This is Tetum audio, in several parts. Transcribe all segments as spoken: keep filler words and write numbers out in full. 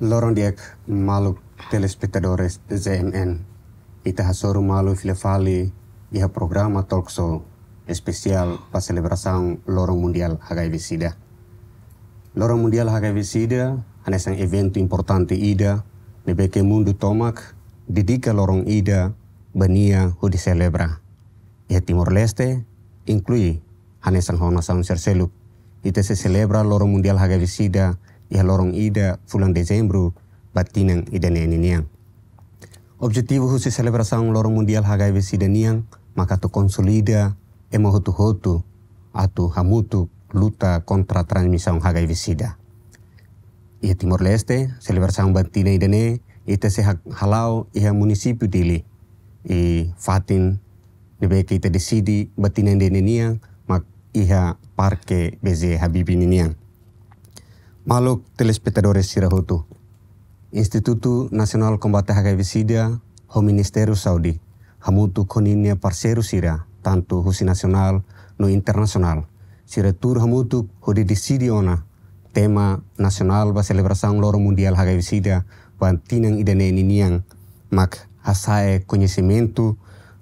Loron di'ak maluk telespetadores Z M N. Ita hasoru malu fila fali iha programa talk show espesiál ba selebrasaun Loron Mundiál H I V SIDA. Loron Mundiál H I V SIDA hanesan eventu importante ida ne'ebé ke mundu tomak dedika loron ida ba nia hodi selebra. Iha Timor-Leste, inklui hanesan ho nasaun sira seluk, ita sei selebra Loron Mundiál H I V SIDA iha loron ida fulan Dezembru ba tinan ida-ne'e ninian. Objetivu husi selebrasaun Loron Mundiál H I V SIDA nian maka atu konsolida ema hotu-hotu atu hamutuk luta kontra transmisaun H I V SIDA. Iha Timor-Leste, selebrasaun ba tinan ida-ne'e ita sei ha-, hala'o iha munisípiu Dili, i fatin ne'ebé ke ita deside ba tinan ida-ne'e nian mak iha Parke B J Habibie ninian. Maluk telespetadores sira hotu, Institutu Nasionál Kombate H I V SIDA ho Ministériu Saúde hamutuk ho ninia parseiru sira, tantu husi nasionál no internasionál, sira tuur hamutuk hodi deside ona tema nasionál ba selebrasaun Loron Mundiál H I V SIDA ba tinan ida-ne'e ninian mak hasa'e koñesimentu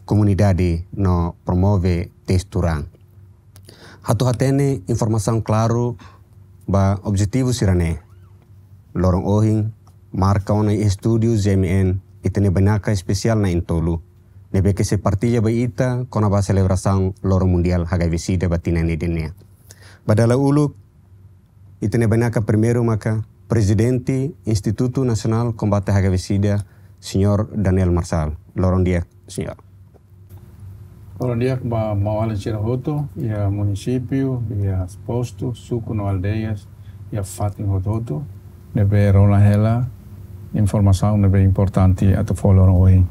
komunidade no promove testu raan. Atu hatene informasaun klaru ba objetivu sira-ne'e, loron ohin marka ona iha estúdiu Z M N ita-nia bainaka espesiál na'in-tolu ne'ebé ke sei partilla ba ita kona-ba selebrasaun Loron Mundiál H I V SIDA ba tinan ida-ne'e. Ba dala uluk, ita-nia bainaka primeiru maka Prezidente Institutu Nasionál Kombate H I V SIDA, Señór Daniel Marçal. Loron di'ak, Señór. Loron di'ak ba maun-alin sira hotu, iha munisípiu, iha postu, suku no aldeias, iha fatin hotu-hotu, ne'ebé rona hela informasaun ne'ebé importante atu fó loron ohin.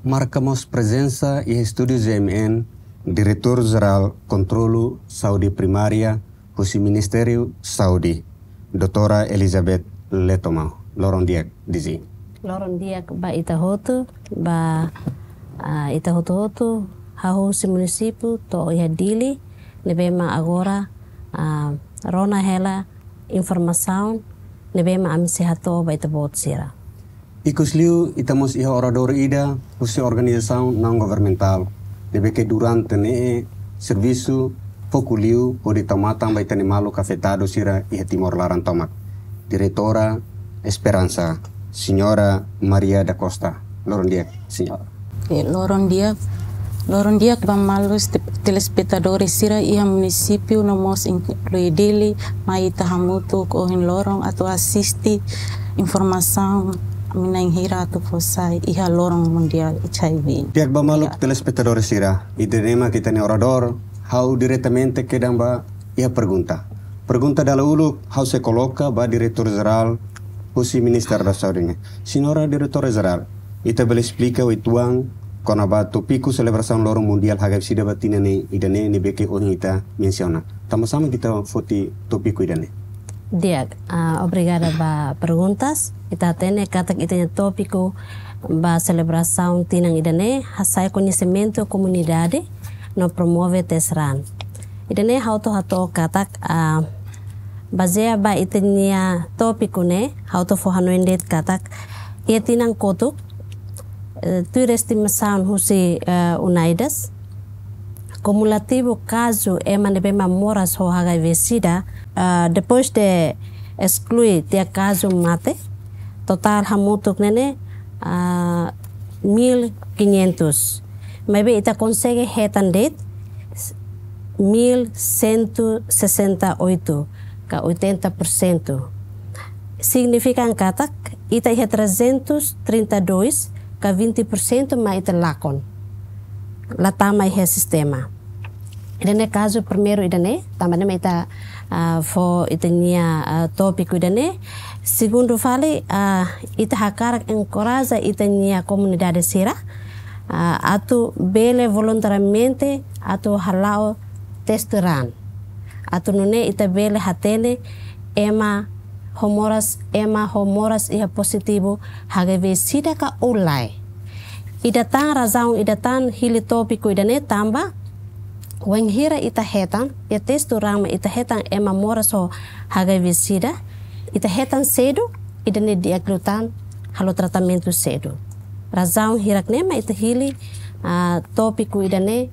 Marka mós prezensa iha estúdiu Z M N, Diretór Jerál Kontrolu Saúde Primária husi Ministériu Saúde, Doutora Elizabeth Letoma. Loron di'ak, D G. Loron di'ak ba ita hotu, ba, ah, ita hotu-hotu, hahú husi munisípiu to'o iha Dili, ne'ebé mak agora, ah, rona hela informasaun ne'ebé mak ami sei hato'o ba ita-boot sira. Ikusliu ita mós iha oradór ida husi organizasaun naun-governamentál ne'ebé ke durante ne'e servisu foku liu hodi tau matan ba ita-nia maluk afetadu sira iha Timor laran tomak. Diretora Esperansa, Señora Maria da Costa. Loron di'ak, Señora. Eh, loron di'ak, loron di'ak ba maluk te-, telespetadores sira iha munisípiu no mós inklui Dili, mai ita hamutuk ohin loron atu asiste informasaun ami na'in hira atu fó sai iha Loron Mundiál H I V. Di'ak ba maluk telespetadores sira, ida-ne'e mak ita-nia oradór, ha'u diretamente kedan ba iha pergunta. Pergunta dala uluk, ha'u sei koloka ba Diretór Jerál husi Ministériu da Saúde nian. Señora Diretora Jerál, ita bele esplika uitoan kona-ba tópiku selebrasaun Loron Mundiál H I V SIDA ba tinan ne'e ida-ne'e ne'ebé ke ohin ita mensiona. Tanba sá mak ita foti tópiku ida-ne'e? Di'ak, ah, obrigada ba perguntas. Ita hatene katak ita-nia tópiku ba selebrasaun tinan ida-ne'e, hasa'e koñesimentu komunidade no promove testu raan. Ida-ne'e ha'u atu hato'o katak, ah, bazeia ba ita-nia tópiku ne'e, ha'u atu fó hanoin de'it katak, iha tinan kotuk, eh, tuir estimasaun husi, eh, UNAIDS, kumulativu kazu ema ne'ebé mak moras ho H I V SIDA, ah, depois de esklui tiha kazu mate, totál hamutuk ne'e ne'e, ah, mil quinhentos. Maibé ita konsege hetan de'it mil cento e sessenta e oito, ka oitenta por cento. Signifika katak ita iha trezentos e trinta e dois, ka vinte por cento mak ita lakon. La tama iha sistema. Ida-ne'e kazu primeiru ida-ne'e, tanba ne'e mak ita, ah, fó ita-nia, ah, tópiku ida-ne'e. Segundu fali, ah, ita hakarak enkoraja ita-nia komunidade sira, ah, atu bele voluntariamente atu hala'o testu raan. Atu nune'e ita bele hatene ema ho moras, ema ho moras iha pozitivu H I V SIDA ka ou lae. Ida tan razaun, ida tan hili tópiku ida-ne'e tanba, wainhira ita hetan, iha testu raan mak ita hetan ema moras ho H I V SIDA, Ita hetan sedu, ida-ne'e di'ak liután halo tratamentu sedu. Razaun hirak ne'e mak ita hili, ah, tópiku ida-ne'e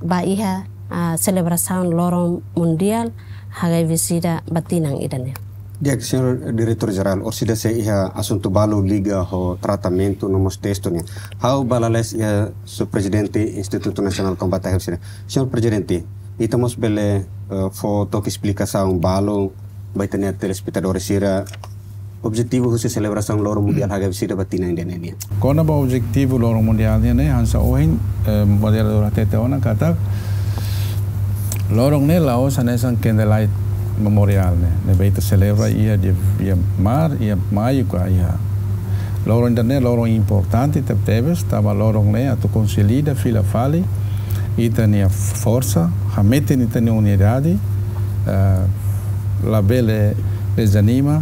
ba iha, ah, selebrasaun Loron Mundiál H I V SIDA ba tinan ida-ne'e. Di'ak, señór Diretór Jerál, orsida sei iha asuntu balu liga ho tratamentu no mós testu nian. Ha'u bá lalais iha señór Prezidente Institutu Nasionál Kombate H I V SIDA. Señór Prezidente, ita mós bele, eh, fó took esplikasaun balu ba ita-nia telespetadór sira, objetivu husi selebrasaun Loron Mundiál H I V SIDA ba tinan ida-ne'e nian? Kona-ba objetivu Loron Mundiál nian ne'e, hanesan ohin, eh, moderadór hatete ona katak, loron ne'e la'ós hanesan Candlelight Memorial ne'e, ne'ebé ita selebra iha dia, iha mar, iha maiu ka iha. Loron ida-ne'e loron importante tebetebes, tanba loron ne'e atu konsolida fila fali ita-nia forsa, hametin ita-nia unidade, eh, labele dezanima,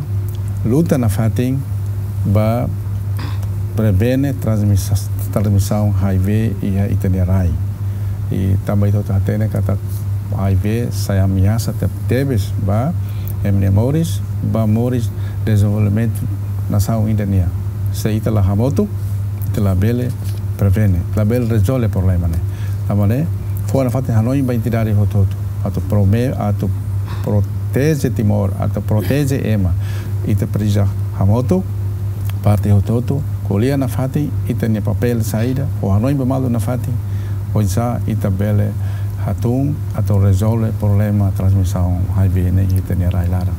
luta nafatin ba prevene transmisa-, transmisaun H I V iha ita-nia rai. I tanba ita hotu hatene katak H I V sai ameasa tebetebes ba ema nia moris, ba moris dezenvolvimentu nasaun ida nian. Se ita la hamutuk, ita labele prevene, labele rezolve problema ne'e. Tanba ne'e, fó nafatin hanoin ba entidade hotu-hotu atu prome-, atu proteje Timor, atu proteje ema. Ita presiza hamutuk, parte hotu-hotu, ko'alia nafatin ita-nia papél saida, fó hanoin ba malu nafatin, oinsá ita bele hatún atu rezolve problema transmisaun H I V ne'e iha ita-nia rai laran.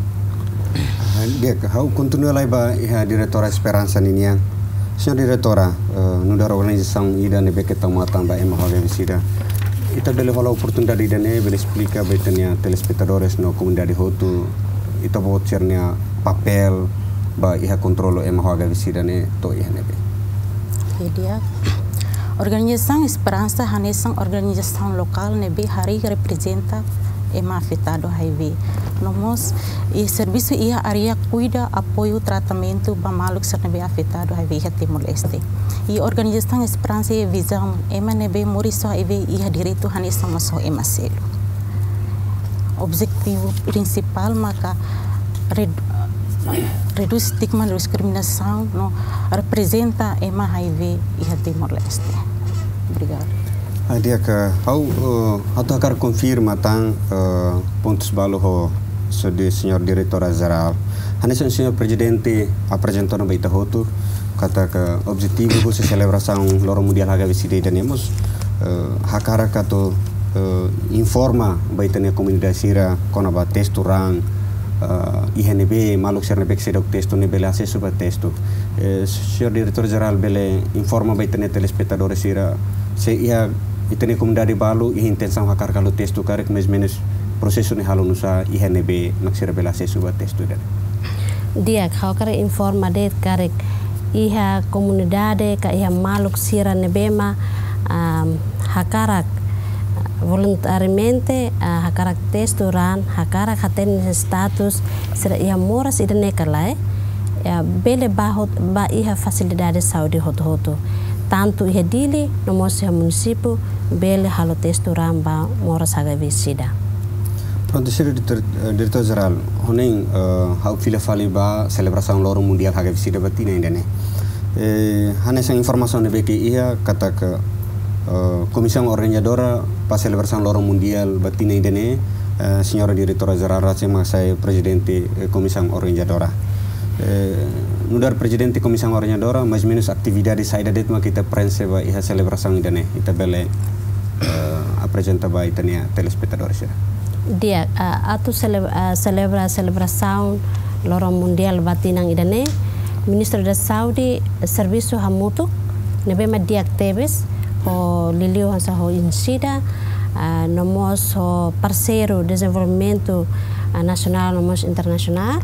Ah, di'ak, ha'u kontinua lai ba iha Diretora Esperança ninian. Señór Diretora, eh, nu'udar organizasaun ida ne'ebé ke tau matan ba ema H I V SIDA, ita bele hola oportunidade ida-ne'e bele esplika ba ita-nia telespetadores no komunidade hotu, ita-boot sira-nia papél ba iha kontrolu ema H I V SIDA ne'e to'o iha ne'ebé? Oke, di'ak. Organizasaun Esperança hanesan organizasaun lokál ne'ebé harii reprezenta ema afetadu H I V. No mós, i servisu iha área kuida apoiu tratamentu ba maluk sira ne'ebé afetadu H I V iha Timor-Leste. I organizasaun Esperança iha vizaun ema ne'ebé moris ho H I V iha direitu hanesan mós ho ema seluk. Objetivu prinsipál maka red-, redús estigma no diskriminasaun no reprezenta ema H I V iha Timor-Leste. Obrigadu. Ah, di'ak, ha'u, eh, atu hakarak konfirma tan, eh, pontus balu ho, so di señór Diretora Jerál. Hanesan señór Prezidente aprezenta ona ba ita hotu, katak objetivu husi selebrasaun Loron Mundiál H I V SIDA ida-ne'e mós, eh, hakarak atu, eh, informa ba ita-nia komunidade sira kona-ba testu raan, eh, iha ne'ebé, maluk sira ne'ebé ke seidauk testu ne'e bele asesu ba testu. Eh, señór Diretór Jerál bele informa ba ita-nia telespetadores sira, se iha ita-nia komunidade balu iha intensaun hakarak halo testu karik, mais menus prosesu ne'e halo nu'usá, iha ne'ebé mak sira bele asesu ba testu ida-ne'e? Di'ak, ha'u hakarak informa de'it karik iha komunidade ka iha maluk sira ne'ebé mak, am, hakarak voluntariamente, ah, hakarak testu raan, hakarak hatene status sira iha moras ida-ne'e ka lae, ya, bele bá hot-, bá iha fasilidade saúde hotu-hotu. Tantu iha Dili, no mós iha munisípiu, bele halo testu raan ba moras H I V SIDA. Prontu, señór Diretór, eh, Diretór Jerál, hanoin, eh, ha'u fila fali ba selebrasaun Loron Mundiál H I V SIDA ba tinan ida-ne'e. Eh, hanesan informasaun ne'ebé ke iha katak, eh, Komisaun Organizadora ba selebrasaun Loron Mundiál ba tinan ida-ne'e, eh, señora Diretora Jerál rasik mak sai prezidente, eh, Komisaun Organizadora. Eh, nu'udar prezidente Komisaun Organizadora, mais menus atividade saida de'it mak ita prenxe ba iha selebrasaun ida-ne'e, ita bele, eh, aprezenta ba ita-nia telespetadores sira? Di'ak, ah, atu sele-, ah, selebra selebrasaun Loron Mundiál ba tinan ida-ne'e, Ministériu da Saúde servisu hamutuk, ne'ebé mak di'ak tebes, ho liuliu hanesan ho INCIDA, ah, no mós ho parseiru dezenvolvimentu, ah, nasionál no mós internasionál.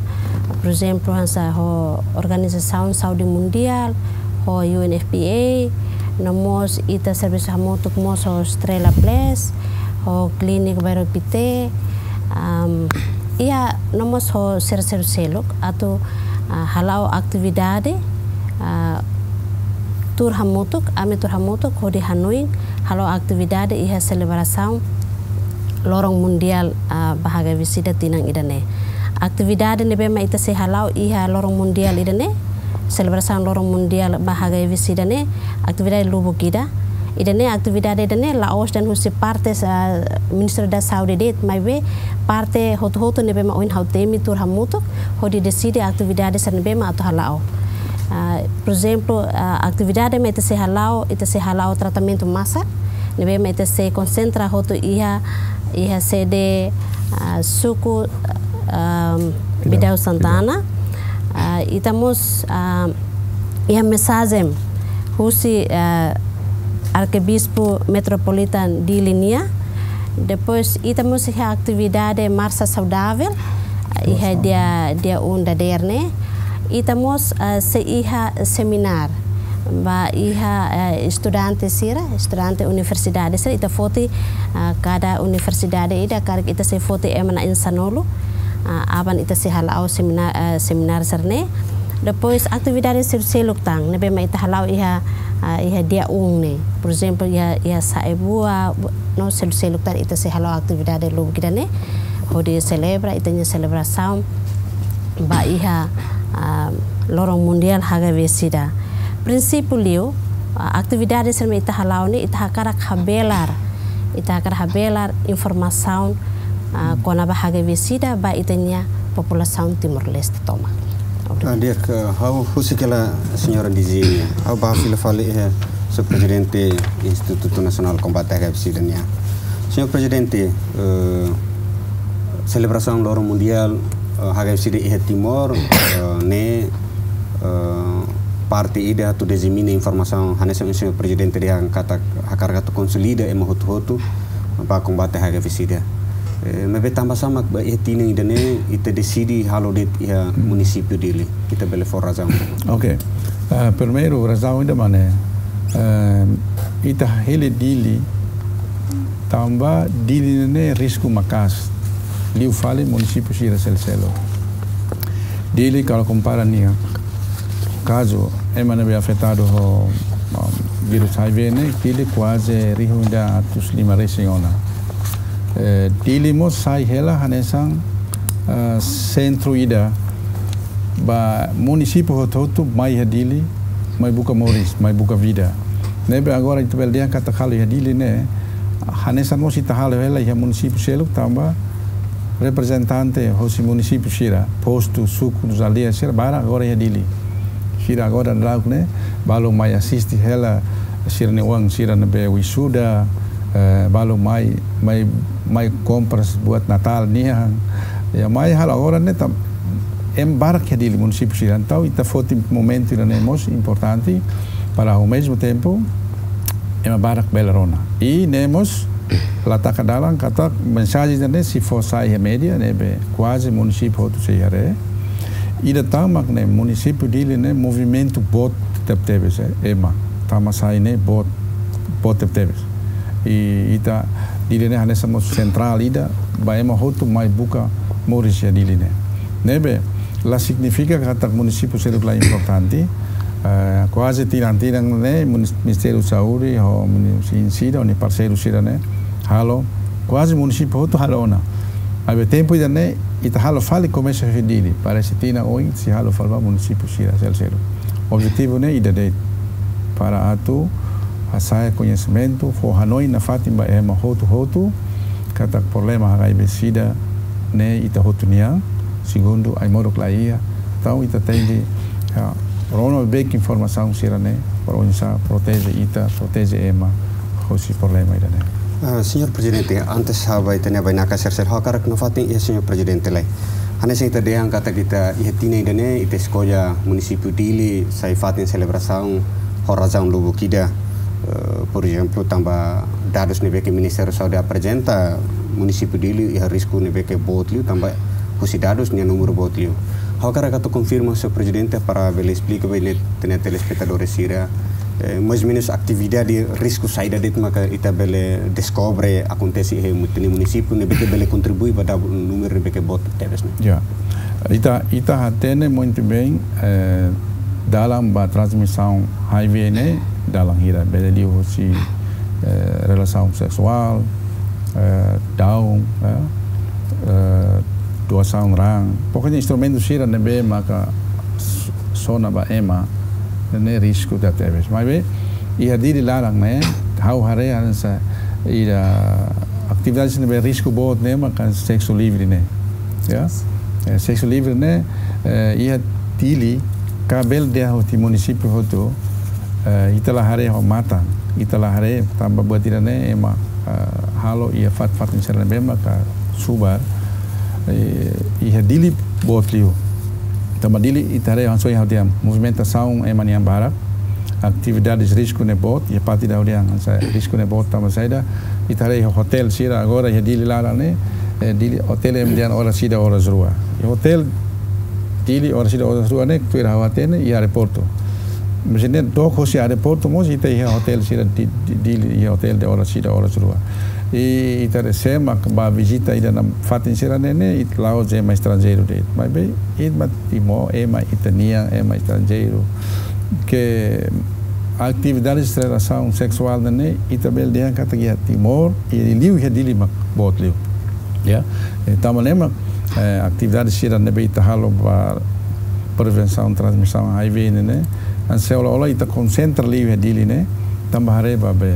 Por ezemplu, hanesan ho Organizasaun Saúde Mundiál, ho U N F P A, no mós ita servisu hamutuk mós ho Estrela Plus, ho Klinik Bairro Pité, am, iha no mós ho sira seluk-seluk atu, ah, hala'o atividade, ah, tuur hamutuk, ami tuur hamutuk hodi hanoin hala'o atividade iha selebrasaun Loron Mundiál, ah, ba H I V SIDA tinan ida-ne'e. Atividade ne'ebé mak ita sei hala'o iha loron mundiál ida-ne'e, selebrasaun loron mundiál ba H I V sida ne'e, atividade lubuk ida. Ida-ne'e atividade ida-ne'e la'ós dehan husi parte, ah, Ministériu da Saúde de'it, maibé parte hotu-hotu ne'ebé mak ohin ha'u temi tuur hamutuk, hodi deside atividade sira ne'ebé mak atu hala'o. Ah, por ezemplu, ah, atividade mak ita sei hala'o, ita sei hala'o tratamentu masak, ne'ebé mak ita sei konsentra hotu iha, iha sede, ah, suku, ah, Bidau, Bidau Santana. Ah, ita mós, ah, iha mensajen husi, ah, Arkebispu Metropolitan Dili nian. Depois, ita mós iha atividade marsa saudavel, ah, iha Nossa. dia, dia um dadeer ne'e. Ita mós, ah, sei iha seminár ba iha, eh, estudante sira, estudante universidade sira, ita foti, ah, kada universidade ida, karik ita sei foti ema na'in sanulu, ah, aban ita sei hala'o seminár, eh, seminár sira-ne'e. Depois atividade seluk-seluk tan, ne'ebé mak ita hala'o iha, ah, iha dia um ne'e. Por ezemplu, iha, iha Saebua, no seluk-seluk tan ita sei hala'o atividade lubuk ida-ne'e, hodi selebra ita-nia selebrasaun ba iha, ah, loron mundiál H I V sida. Prinsípiu liu, ah, atividade sira ne'ebé ita hala'o ne'e, ita hakarak habelar, ita hakarak habelar informasaun, ah, kona-ba H I V sida ba ita-nia populasaun Timor-Leste tomak. Obrigada. Ah, di'ak, eh, ha'u husik hela señora Dizia nian. Ha'u bá fila fali, eh, Señór Prezidente Institutu Nasionál Kombate H I V sida nian. Señór Prezidente, eh, selebrasaun loron mundiál, eh, H I V sida iha Timor, eh, ne'e, eh, parte ida atu disemina informasaun, hanesan Señór Prezidente dehan katak hakarak atu konsolida ema hotu-hotu ba kombate H I V sida. Eh, maibé tanbasá mak ba iha tinan ida-ne'e ita deside halo de'it iha munisípiu Dili? Ita bele fó razaun? Ok. Ah, primeiru, razaun ida mak ne'e, eh, ita hili Dili tanba Dili ne'e risku maka'as liu fali munisípiu sira seluk-seluk. Dili, kalau kompara nia kazu ema ne'ebé afetadu ho, um, vírus H I V ne'e, Dili kuaze rihun ida atus lima resin ona. Eh, Dili mós sai hela hanesan, eh, sentru ida ba munisípiu hotu-hotu mai iha Dili, mai buka moris, mai buka vida. Ne'ebé agora ita bele dehan katak halo iha Dili ne'e, hanesan mós ita halo hela iha munisípiu seluk tanba reprezentante hosi munisípiu sira, postu, suku, aldeia sira, barak agora iha Dili. Sira agora dadauk ne'e, balu mai asiste hela sira-nia oan sira ne'ebé wisuda, eh, balu mai, mai, mai kompras buat Natál nian. Ya, mai halo agora ne'e tam, ema barak iha Dili munisípiu sira. Entaun, ita foti momentu ida-ne'e mós importante para, ao mesmo tempo, ema barak bele rona. I ne'e mós la taka dalan katak mensajen ida-ne'e sei fó sai iha média, ne'ebé kuaze munisípiu hotu sei haree. Ida tan mak ne'e munisípiu Dili ne'e movimentu boot tebetebes, eh, ema. Tama sai ne'e boot, boot tebetebes. I ita Dili ne'e hanesan mós sentrál ida ba ema hotu mai buka moris iha Dili ne'e. Ne'ebé la signifika katak munisípiu seluk la importante. Eh, kuaze tinan-tinan ne'e munis-, Ministériu Saúde ho muni-, sin sida, ho nia parseiru sira-ne'e halo. Kuaze munisípiu hotu halo ona. Maibé tempu ida-ne'e ita halo fali komesa iha Dili. Parese tinan oin sei halo fali ba munisípiu sira seluk-seluk. Objetivu ne'e ida de'it, para atu hasa'e koñesimentu, fó hanoin nafatin ba ema hotu-hotu katak problema H I V sida ne'e ita hotu nian, segundu ai-moruk la iha. Entaun ita tenke, ah, rona beibeik informasaun sira-ne'e, para oinsá proteje ita, proteje ema hosi problema ida-ne'e. Ah, Señór Prezidente, antes ha'u bá ita-nia bainaka sira seluk, ha'u hakarak nafatin iha Señór Prezidente lai. Hanesan ita dehan katak ita iha tinan ida-ne'e, ita eskolla munisípiu Dili sai fatin selebrasaun ho razaun lubuk ida. Eh, por ezemplu, tanba dadus ne'ebé ke Ministériu Saúde aprezenta, munisípiu Dili iha risku ne'ebé ke boot liu, tanba husi dadus nia númeru boot liu. Ha'u hakarak atu konfirma, Señór Prezidente, para bele esplika ba ita-nia telespetadór sira, eh, mais ou menus atividade risku saida de'it maka ita bele deskobre akontese iha ita-nia munisípiu, ne'ebé ke bele kontribui ba dadu númeru ne'ebé ke boot tebes ne'e. Ya. Ita, ita hatene muito bem, eh, dalan ba transmisaun H I V ne'e, dalan hira, bele liu husi, eh, relasaun seksuál, eh, daun, eh, eh, Pokoknya instrumentu sira ne'ebé maka s-, sona ba ema ne'e risku tebes. Maibé iha Dili laran ne'e, ha'u haree hanesan ida atividade ne'ebé risku boot ne'e maka seksu livre ne'e. Ya. Eh, seksu livre ne'e, eh, iha Dili ka bele dehan husi munisípiu hotu, eh, ita la haree ho matan, ita la haree tanba buat ida ne'e ema, eh, halo iha fatin-fatin sira ne'ebé maka subar, eh, iha Dili boot liu. Tanba Dili ita haree hanesan ohin ha'u dehan, movimentasaun ema nian barak, atividades risku ne'e boot, iha parte ida ha'u dehan hanesan risku ne'e boot tanba saida, ita haree iha hotel sira agora iha Dili laran ne'e, eh, Dili hotel ema dehan oras ida oras rua. Iha hotel Dili oras ida oras rua ne'e, tuir ha'u hatene iha aeroportu. Maibé ne'e dook husi aeroportu mós ita iha hotel sira Di-, Di-, Dili iha hotel de oras ida oras rua. I ita haree se ema ba vizita ida-ne'e fatin sira ne'e, ne'e ita la'ós ema estranjeiru de'it. Maibé ita ema Timor, ema ita-nian, ema estranjeiru. Ke atividades relasaun seksuál ne'e, ita bele dehan katak iha Timor, i liu iha Dili mak boot liu. Ya, eh, tanba ne'e mak, eh, atividade sira ne'ebé ita halo ba prevensaun transmisaun H I V ne'e, ne'e, hanesan ola-ola ita konsentra liu iha Dili ne'e, tanba haree ba be,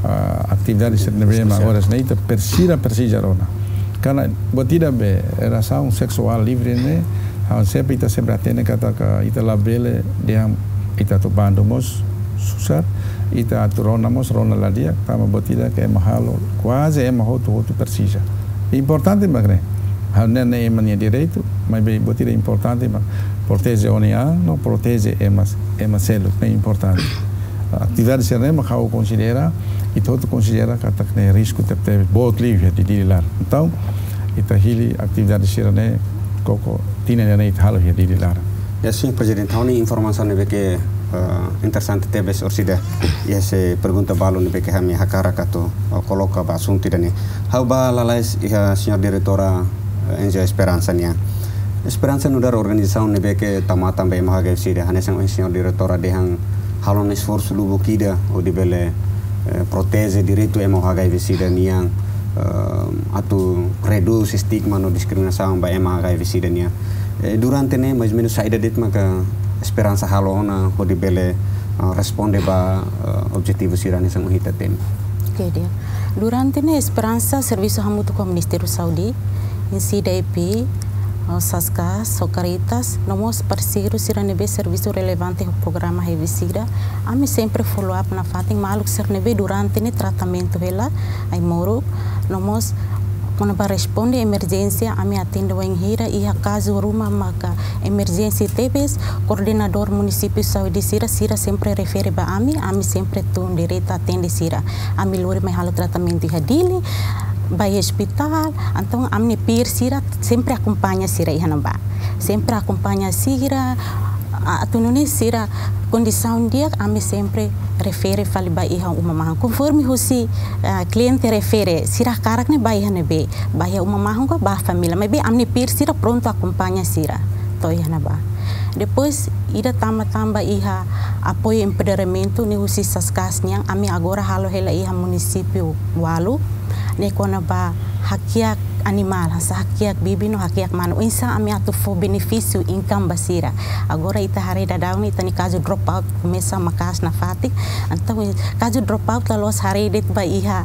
ah, atividade sira ne'ebé mak agora ne'e ita presiza, presiza rona. Karena buat ida be, relasaun seksuál livre ne'e, ha'u sempre, ita sempre hatene katak ita labele dehan ita atu bandu mós susar, ita atu rona mós rona la di'ak, tanba buat ida ke ema halo, kuaze ema hotu-hotu presiza. Importante mak ne'e. Ha'u ne'e, ne'e ema nia direitu, maibé buat ida importante mak proteje ó-nia an, no proteje ema, ema seluk, ne'e importante. Atividade sira ne'e mak ha'u konsidera, ita hotu konsidera katak ne'e risku tebetebes boot liu iha Dili laran. Entaun, ita hili atividade sira ne'e koko tinan ida-ne'e ita halo iha Dili laran. Ya, señór Prezidente, ha'u-nia informasaun ne'ebé ke, eh, interesante tebes orsida. Iha se pergunta balu ne'ebé ke ami hakarak atu, eh, koloka ba asuntu ida-ne'e. Ha'u bá lalais iha señora diretora, eh, N G O Esperansa nian. Esperansa nu'udar organizasaun ne'ebé ke tau matan ba ema H I V sida. Hanesan ohin señora diretora dehan halo ona esforsu lubuk ida hodi bele, eh, proteje direitu ema H I V sida nian, eh, atu redús estigma no diskriminasaun ba ema H I V sida nian. Eh, durante ne'e, mais ou menus saida de'it maka Esperansa halo ona hodi bele, eh, responde ba, eh, objetivu sira hanesan ohin ita temi. Oke, di'ak. Durante ne'e Esperansa servisu hamutuk ho Ministériu Saúde, N C D I P, eh, SASCAS, ho Caritas, no mós parseiru sira ne'ebé servisu relevante ho programa H I V sida. Ami sempre follow up nafatin maluk sira ne'ebé durante ne'e tratamentu hela ai-moruk, no mós kona-ba responde emerjénsia, ami atende wainhira iha kazu ruma maka emerjénsia tebes, koordenadór munisípiu saúde sira, sira sempre refere ba ami, ami sempre tun diretu atende sira. Ami lori mai halo tratamentu iha Dili, ba iha ospitál, entaun ami-nia peer sira sempre akompaña sira iha ne'ebá. Sempre akompaña sira, a-, atu nune'e sira kondisaun di'ak, ami sempre refere fali ba iha uma mahon. Konforme husi, ah, kliente refere, sira hakarak ne'e ba iha ne'ebé, ba iha uma mahon ka ba família. Maibé ami-nia peer sira prontu akompaña sira to'o iha ne'ebá. Depois, ida tama tanba iha apoiu empoderamentu ne'e husi SASCAS nian, ami agora halo hela iha munisípiu ualu, ne'e kona-ba hakiak animál, hanesan hakiak bibi no hakiak manu. Oinsá ami atu fó benefísiu income ba sira. Agora ita haree daudaun ita-nia kazu drop out komesa maka'as nafatin. Entaun, kazu drop out la loos haree de'it ba iha,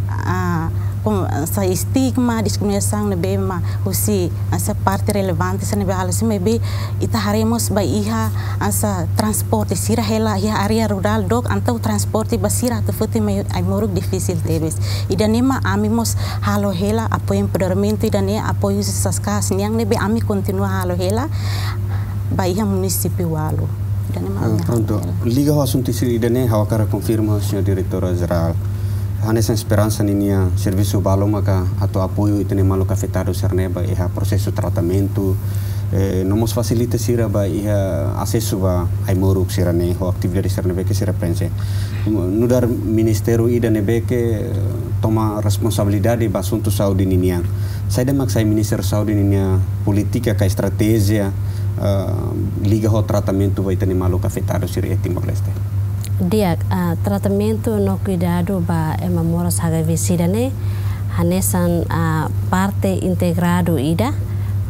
ah, hanesan estigma, diskriminasaun ne'ebé mak husi hanesan parte relevante sira ne'ebé halo, maibé ita haree mós ba iha hanesan transporte, sira hela iha área rurál dook, entaun transporte ba sira atu foti mai ai-moruk difisil tebes. Ida-ne'e mak ami mós halo hela apoiu empoderamentu ida-ne'e, apoiu husi SASCAS nian ne'ebé ami kontinua halo hela ba iha munisípiu ualu. Ida-ne'e mak Ah, ami halo pronto. Hela. Liga ho asuntu sira ida-ne'e, ha'u hakarak konfirma, señora diretora jerál. Hanesan Esperansa ninia servisu balu maka atu apoiu ita-nia maluk afetadu sira-ne'e ba iha prosesu tratamentu, eh, no mós fasilita sira ba iha asesu ba ai-moruk sira-ne'e ho atividade sira ne'ebé ke sira preenxe. Nu'udar ministériu ida ne'ebé ke toma responsabilidade ba asuntu saúde ninian. Saida mak sai Ministériu Saúde ninia polítika ka estratéjia, eh, liga ho tratamentu ba ita-nia maluk afetadu sira iha Timor-Leste? Di'ak, ah, tratamentu no kuidadu ba ema moras H I V sida ne'e hanesan, ah, parte integradu ida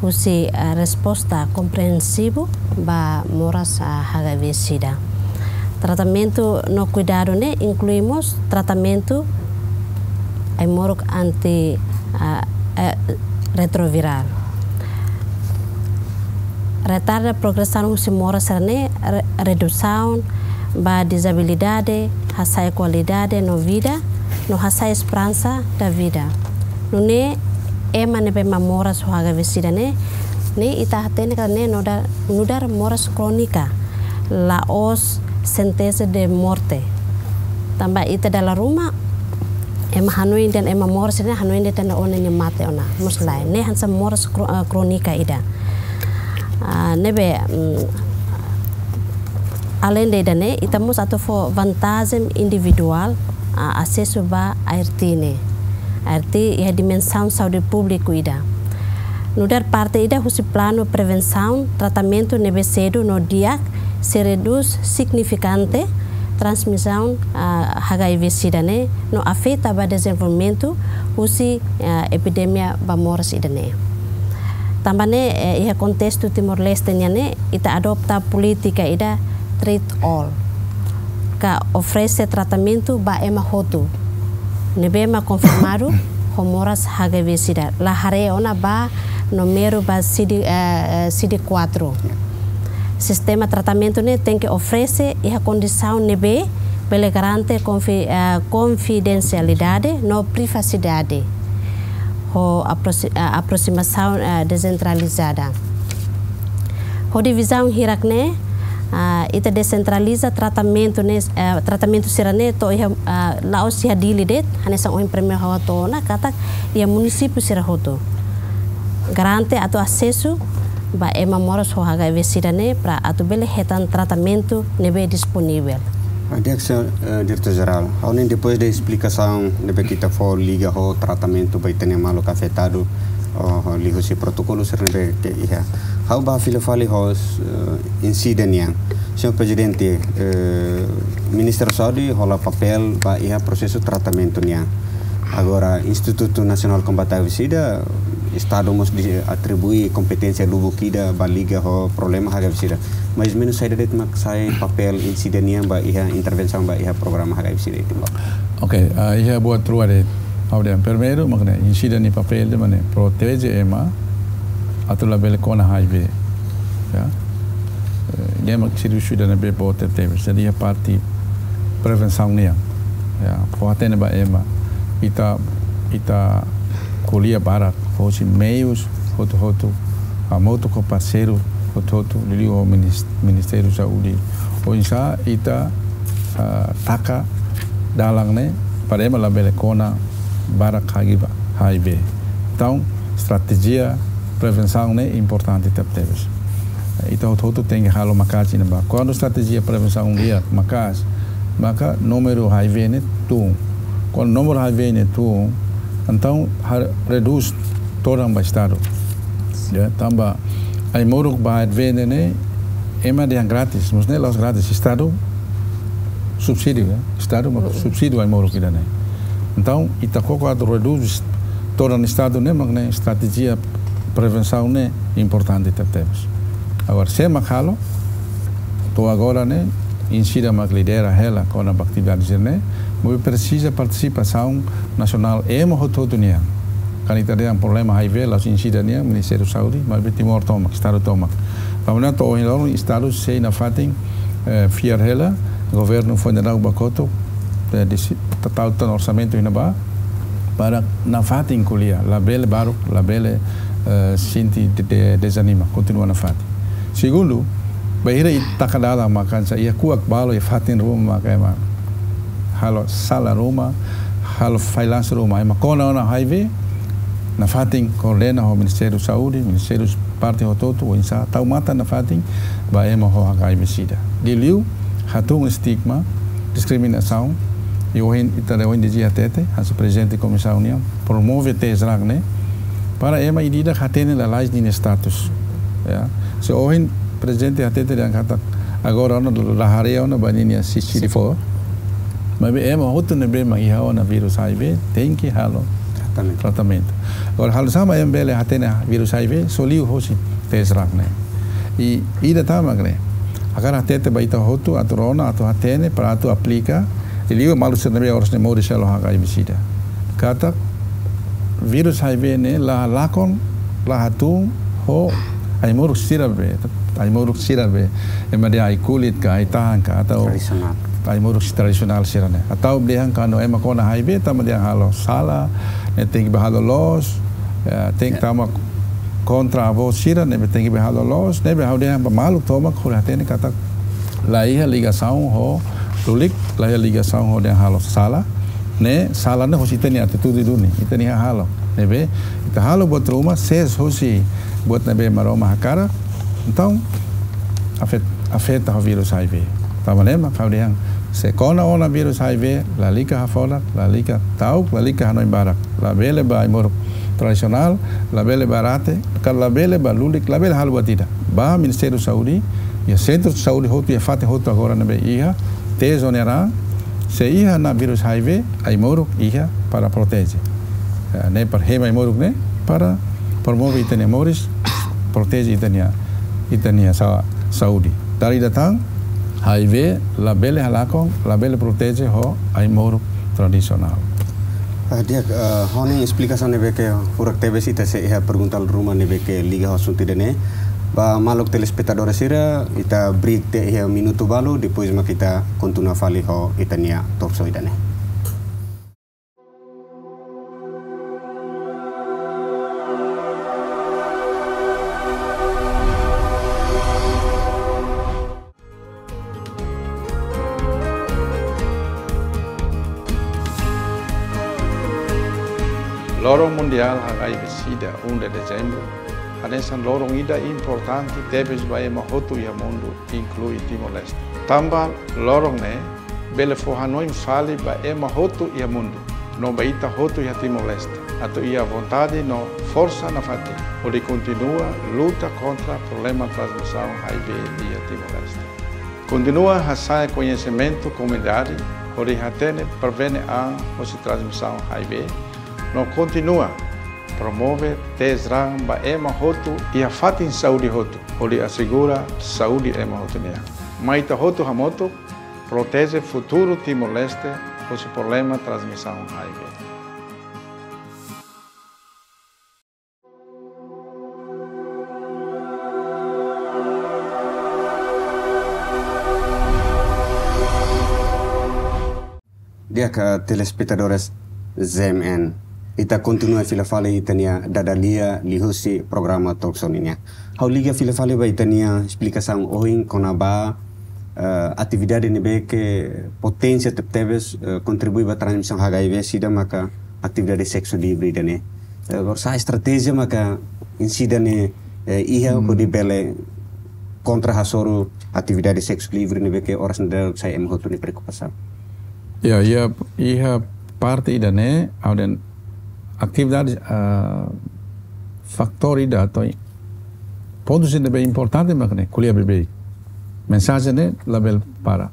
husi, ah, resposta komprensivu ba moras, ah, H I V sida. Tratamentu no kuidadu ne'e inklui mós tratamentu ai-moruk anti, ah, eh, retroviral. Retarda progresaun husi moras sira-ne'e, re-, redusaun ba dizabilidade, hasa'e kualidade no vida, no hasa'e esperansa da vida. Nune'e ema ne'ebé mak moras ho H I V sida ne'e, ne'e ita hatene katak ne'e nu'udar, nu'udar moras krónika, la'ós sentensa de morte. Tanba ita dala ruma, ema hanoin dehan ema moras ne'e hanoin dehan ona nia mate ona, mós lae. Ne'e hanesan moras kró-, eh, krónika ida. Ah, ne'ebé, mm, aleinde ida-ne'e, ita mós atu fó vantajen individuál, ah, asesu ba A R T ne'e. A R T iha dimensaun saúde públiku ida. Nu'udar parte ida husi planu prevensaun, tratamentu ne'ebé sedu no di'ak sei redús signifikante transmisaun, ah, H I V sida ne'e no afeta ba dezenvolvimentu husi, ah, epidemia ba moras ida-ne'e. Tanba ne'e, eh, iha kontestu Timor-Leste nian ne'e, ita adota polítika ida treat all, ka oferese tratamentu ba ema hotu ne'ebé mak konfirmadu ho moras H I V sida, la haree ona ba númeru ba CD, eh, eh, CD quatro. Sistema tratamentu ne'e tenke oferese iha kondisaun ne'ebé bele garante konfi-, eh, konfidensialidade no privasidade, ho aproxi-, eh, aproximasaun, eh, dezentralizada. Hodi vizaun hirak-ne'e, ah, ita desentraliza tratamentu ne'e, eh, tratamentu sira-ne'e to'o iha, ah, la'ós iha Dili de'it, hanesan ohin primeiru ha'u hato'o ona katak iha munisípiu sira hotu. Garante atu asesu ba ema moras ho H I V sida ne'e para atu bele hetan tratamentu ne'ebé disponivel. Ah, di'ak, señór, eh, Diretór Jerál. Ha'u hanoin depois de esplikasaun ne'ebé ke ita fó liga ho tratamentu ba ita-nia maluk afetadu, oh, liuhusi protokolu sira ne'ebé ke iha. Ha'u bá fila fali ho, eh, INCIDA nian. Señór Prezidente, eh, Ministériu Saúde hola papél ba iha prosesu tratamentu nian. Agora, Institutu Nasionál Kombate H I V sida, Estadu mós atribui kompeténsia lubuk ida ba liga ho problema H I V sida. Mais ou menus saida de'it mak sai papél INCIDA nian ba iha intervensaun ba iha programa H I V sida iha Timor? Ok, ah, iha buat rua de'it. Ha'u dehan primeiru, mak ne'e, INCIDA nia papél ida mak ne'e proteje ema atu labele kona H I V. Ya. Eh, ne'e mak servisu ida ne'ebé boot tebes. Jadi iha parte prevensaun nian. Ya, fó hatene ba ema. Ita, ita ko'alia barak, fó husi meius hotu-hotu, hamutuk ho parseiru hotu-hotu, liuliu ho minis-, Ministériu Saúde. Oinsá ita, ah, taka dalan ne'e para ema labele kona barak H I V, H I V. Entaun, estratéjia prevensaun ne'e importante tebetebes. Ita hotu-hotu tenke halo maka'as iha ne'ebá. Kuandu estratéjia prevensaun di'ak maka'as, maka númeru H I V ne'e tun. Kuandu númeru H I V ne'e tun, entaun ha-, redús todan ba Estadu. Ya, tanba ai-moruk ba H I V ne'e, ne'e ema dehan grátis, mas ne'e la'ós grátis, Estadu subsídiu, ya. Estadu mak subsídiu ai-moruk ida-ne'e. Entaun, ita koko atu redús todan Estadu ne'e, mak ne'e estratéjia prevensaun ne'e importante tebetebes. Agora, sé mak halo, to'o agora ne'e, INCIDA mak lidera hela kona-ba atividade sira-ne'e, maibé presiza partisipasaun nasionál ema hotu-hotu nian. Kuandu ita dehan problema H I V, la'ós INCIDA nian, Ministériu Saúde, maibé Timor tomak, Estadu tomak. Tanba ne'e to'o ohin loron Estadu sei nafatin, eh, fiar hela, governu fó daudaun ba kotuk, eh, disi-, ta-, tau tan orsamentu iha ne'ebá, para nafatin ko'alia, labele baruk, labele, eh, sente de-, de-, dezanima, kontinua nafatin. Segundu, bainhira ita taka dalan mak hanesan iha kuak balu iha fatin ruma mak ema halo sala ruma, halo failans ruma, ema kona ona H I V, nafatin koordena ho Ministériu Saúde, Ministériu parte hotu-hotu, oinsá tau matan nafatin ba ema ho H I V sida. Liuliu hatún estigma, diskriminasaun, i ohin, ita dehan ohin dehan hatete, hanesan Prezidente Komisaun nian, promove test run ne'e, para ema ida-idak hatene lalais ninia status. Ya. Se ohin Prezidente hatete dehan katak agora ona la haree ona ba ninia C D four. Maibé ema hotu ne'ebé mak iha ona vírus H I V, tenke halo Tratamentu. Agora, halo oinsá mak ema bele hatene vírus H I V, só liu hosi tes rang ne'e. I ida tan mak ne'e. Hakarak hatete ba ita hotu, atu rona, atu hatene, para atu aplika. I liu maluk sira ne'ebé oras ne'e moris hela ho H I V sida. Katak vírus H I V ne'e la lakon, la hatún ho ai-moruk sira be, ai-moruk sira be, ema dehan ai-kulit ka, ai-tahan ka, atau tradisionál. Ai-moruk tradisionál sira-ne'e. Atau dehan kuandu ema kona H I V, tanba dehan halo sala, ne'e tenke bá halo loos, eh, tenke tama kontra avó sira, ne'ebé tenke bá halo loos, ne'ebé ha'u dehan ba maluk tomak hodi hatene katak la iha ligasaun ho lulik, la iha ligasaun ho dehan halo sala, ne'e sala ne'e hosi ita-nia atitude duni, ita-nia hahalok. Ne'ebé ita halo buat ruma, sees hosi buat ne'ebé Maromak hakarak, entaun afet-, afeta ho vírus H I V. Tanba ne'e mak ha'u dehan, se kona ona vírus H I V, lalika hafodak, lalika ta'uk, lalika hanoin barak. Labele ba ai-moruk tradisionál, labele ba rate, ka labele ba lulik, labele halo buat ida. Bá Ministériu Saúde, iha sentru saúde hotu, iha fatin hotu agora ne'ebé iha tes rang ne'e, se iha ona vírus H I V, ai-moruk iha para proteje. Eh, ne'e para hemu ai-moruk ne'e, para promove ita-nia moris, proteje ita-nia, ita-nia sa-, saúde. Dala ida tan, H I V labele halakon, labele proteje ho ai-moruk tradisionál. Ah, di'ak, eh, ho nia esplikasaun ne'ebé ke furak tebes, ita sei iha pergunta ruma ne'ebé ke liga ho asuntu ida-ne'e. Ba maluk telespetadór sira, ita break tiha iha minutu balu, depois mak ita kontinua fali ho ita-nia talk show ida-ne'e. Loron Mundiál H I V SIDA, um de dezembro, hanesan loron ida importante tebes ba ema hotu iha mundu, inklui Timor-Leste. Tanba loron ne'e bele fó hanoin fali ba ema hotu iha mundu, no ba ita hotu iha Timor-Leste, atu iha vontade no forsa nafatin hodi kontinua luta kontra problema transmisaun H I V iha Timor-Leste. Kontinua hasa'e koñesimentu komunidade hodi hatene, prevene an hosi transmisaun H I V, no kontinua promove tes rang ba ema hotu iha fatin saúde hotu, hodi asegura saúde ema hotu nian. Mai ita hotu hamutuk proteje futuru Timor-Leste hosi problema transmisaun H I V. Di'ak, eh, telespetadores Z M N, ita kontinua fila fali ita-nia dada-lia liuhusi programa talk show nian. Ha'u liga fila fali ba ita-nia esplikasaun ohin kona-ba, eh, atividade ne'ebé ke poténsia tebetebes, eh, kontribui ba transmisaun H I V SIDA maka atividade seksu livre ida-ne'e. Eh, oinsá estratéjia maka ema sira-ne'e, eh, iha hodi bele kontra hasoru atividade seksu livre ne'ebé ke oras ne'e daudaun sai ema hotu nia preokupasaun. Ya, ya, iha parte ida-ne'e, ha'u dehan atividade, ah, fatór ida atau pontu sira ne'ebé importante mak ne'e, ko'alia beibeik. Mensajen ne'e labele para.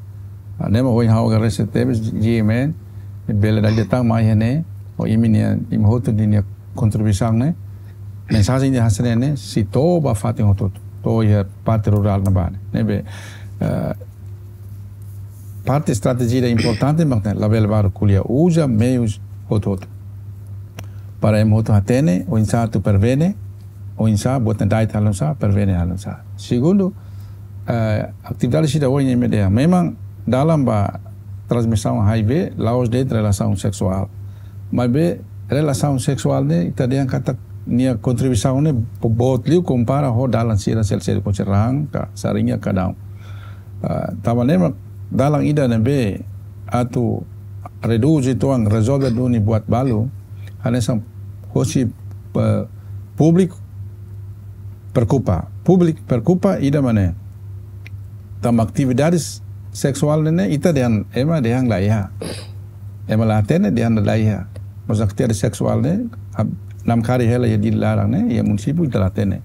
Ah, ne'e mak ohin ha'u agradese tebes G M N, bele dala ida tan mai iha ne'e, ho imi-nia, imi hotu nia kontribuisaun ne'e. Mensajen ida hanesan ne'e sei to'o ba fatin hotu-hotu, to'o iha parte rurál ne'ebá ne'e. Ne'ebé, eh, parte estratéjia ida importante mak ne'e, labele baru ko'alia, uza meius hotu-hotu. Para ema hotu hatene, oinsá atu prevene, oinsá buat ne'e da'et halo oinsá, prevene halo oinsá. Segundu, eh, atividade sira ohin imi dehan, memang dalan ba transmisaun H I V la'ós de'it relasaun seksuál. Maibé relasaun seksuál ne'e ita dehan katak nia kontribuisaun ne'e bo-, boot liu kompara ho dalan sira seluk-seluk, konserang ka saringa ka daun. Ah, tanba ne'e mak dalan ida ne'ebé atu redús uitoan, rezolve duni buat balu, hanesan hosi, eh, públiku preokupa. Públiku preokupa ida mak ne'e. Tanba atividade seksuál ne'e, ita dehan, ema dehan la iha. Ema la hatene dehan la iha. Mas atividade seksuál ne'e, ab-, namkari hela iha Dili laran ne'e, iha munisípiu ita la hatene.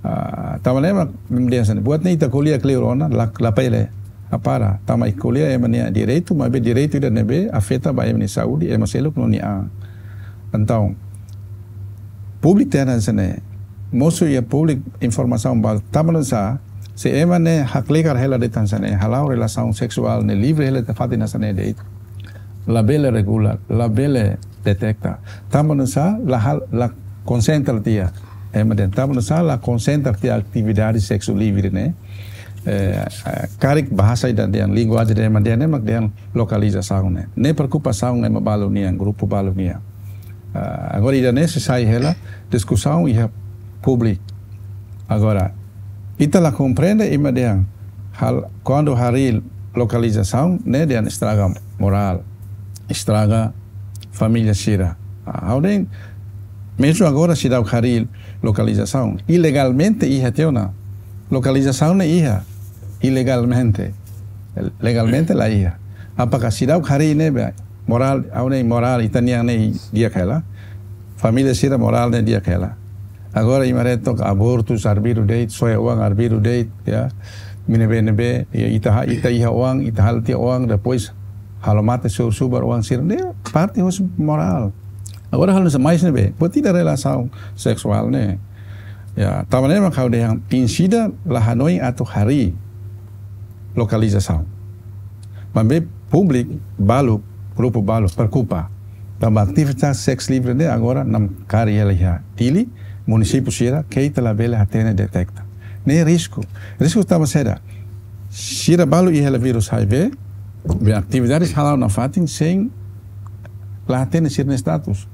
Ah, tanba ne'e mak imi dehan hanesan ne'e. Buat ne'e ita ko'alia kleur ona, la, la pele, la para. Tanba ita ko'alia ema nia direitu, maibé direitu ida ne'ebé afeta ba ema nia saúde, ema seluk no nia an. Entaun, públiku tenke saber, mosu iha públiku informasaun ba, tanba nu'usá, se ema ne'e haklikar hela de'it hanesan ne'e, hala'o relasaun seksuál ne'e livre hela de'it, fatin hanesan ne'e de'it, labele regula, labele deteta. Tanba nu'usá, la hal, la konsentra tiha. Ema dehan, tanba nu'usá, la konsentra tiha atividade seksu livre ne'e. Eh, eh, karik bahasa ida dehan, linguajen ida ema dehan, ema dehan lokalizasaun ne'e. Ne'e preokupasaun ema balu nian, grupu balu nian. Ah, agora ida-ne'e sei sai hela diskusaun iha públiku. Agora, ita la komprende ema dehan, hal, kuandu harii lokalizasaun ne'e dehan estraga morál, estraga família sira. Ah, ha'u dehan, mezmu agora seidauk harii lokalizasaun, ilegalmente iha tiha ona. Lokalizasaun ne'e iha, ilegalmente. Legalmente la iha. Apakah seidauk harii ne'ebé morál, ha'u dehan morál ita-nian ne'e di'ak hela. Família sira morál ne'e di'ak hela. Agora ema haree took abortus arbiru de'it, soe oan arbiru de'it, ya. Ne'ebé, ne'ebé, ya, ita ha-, ita iha oan, ita halo tiha oan, depois halo mate subar-subar oan sira. Ne'e parte husi morál. Agora halo hanesan mais ne'ebé, buat ida relasaun seksuál ne'e. Ya, tanba ne'e mak ha'u dehan, ema sira la hanoin atu harii lokalizasaun. Maibé públiku balu, grupu balu preokupa. Tanba atividade seksu livre ne'e agora namkari hela iha Dili, munisípiu sira, keta labele hatene deteta. Ne'e risku. Risku tanba saida? Sira balu iha hela vírus H I V, be atividade hala'o nafatin sein la hatene sira-nia status.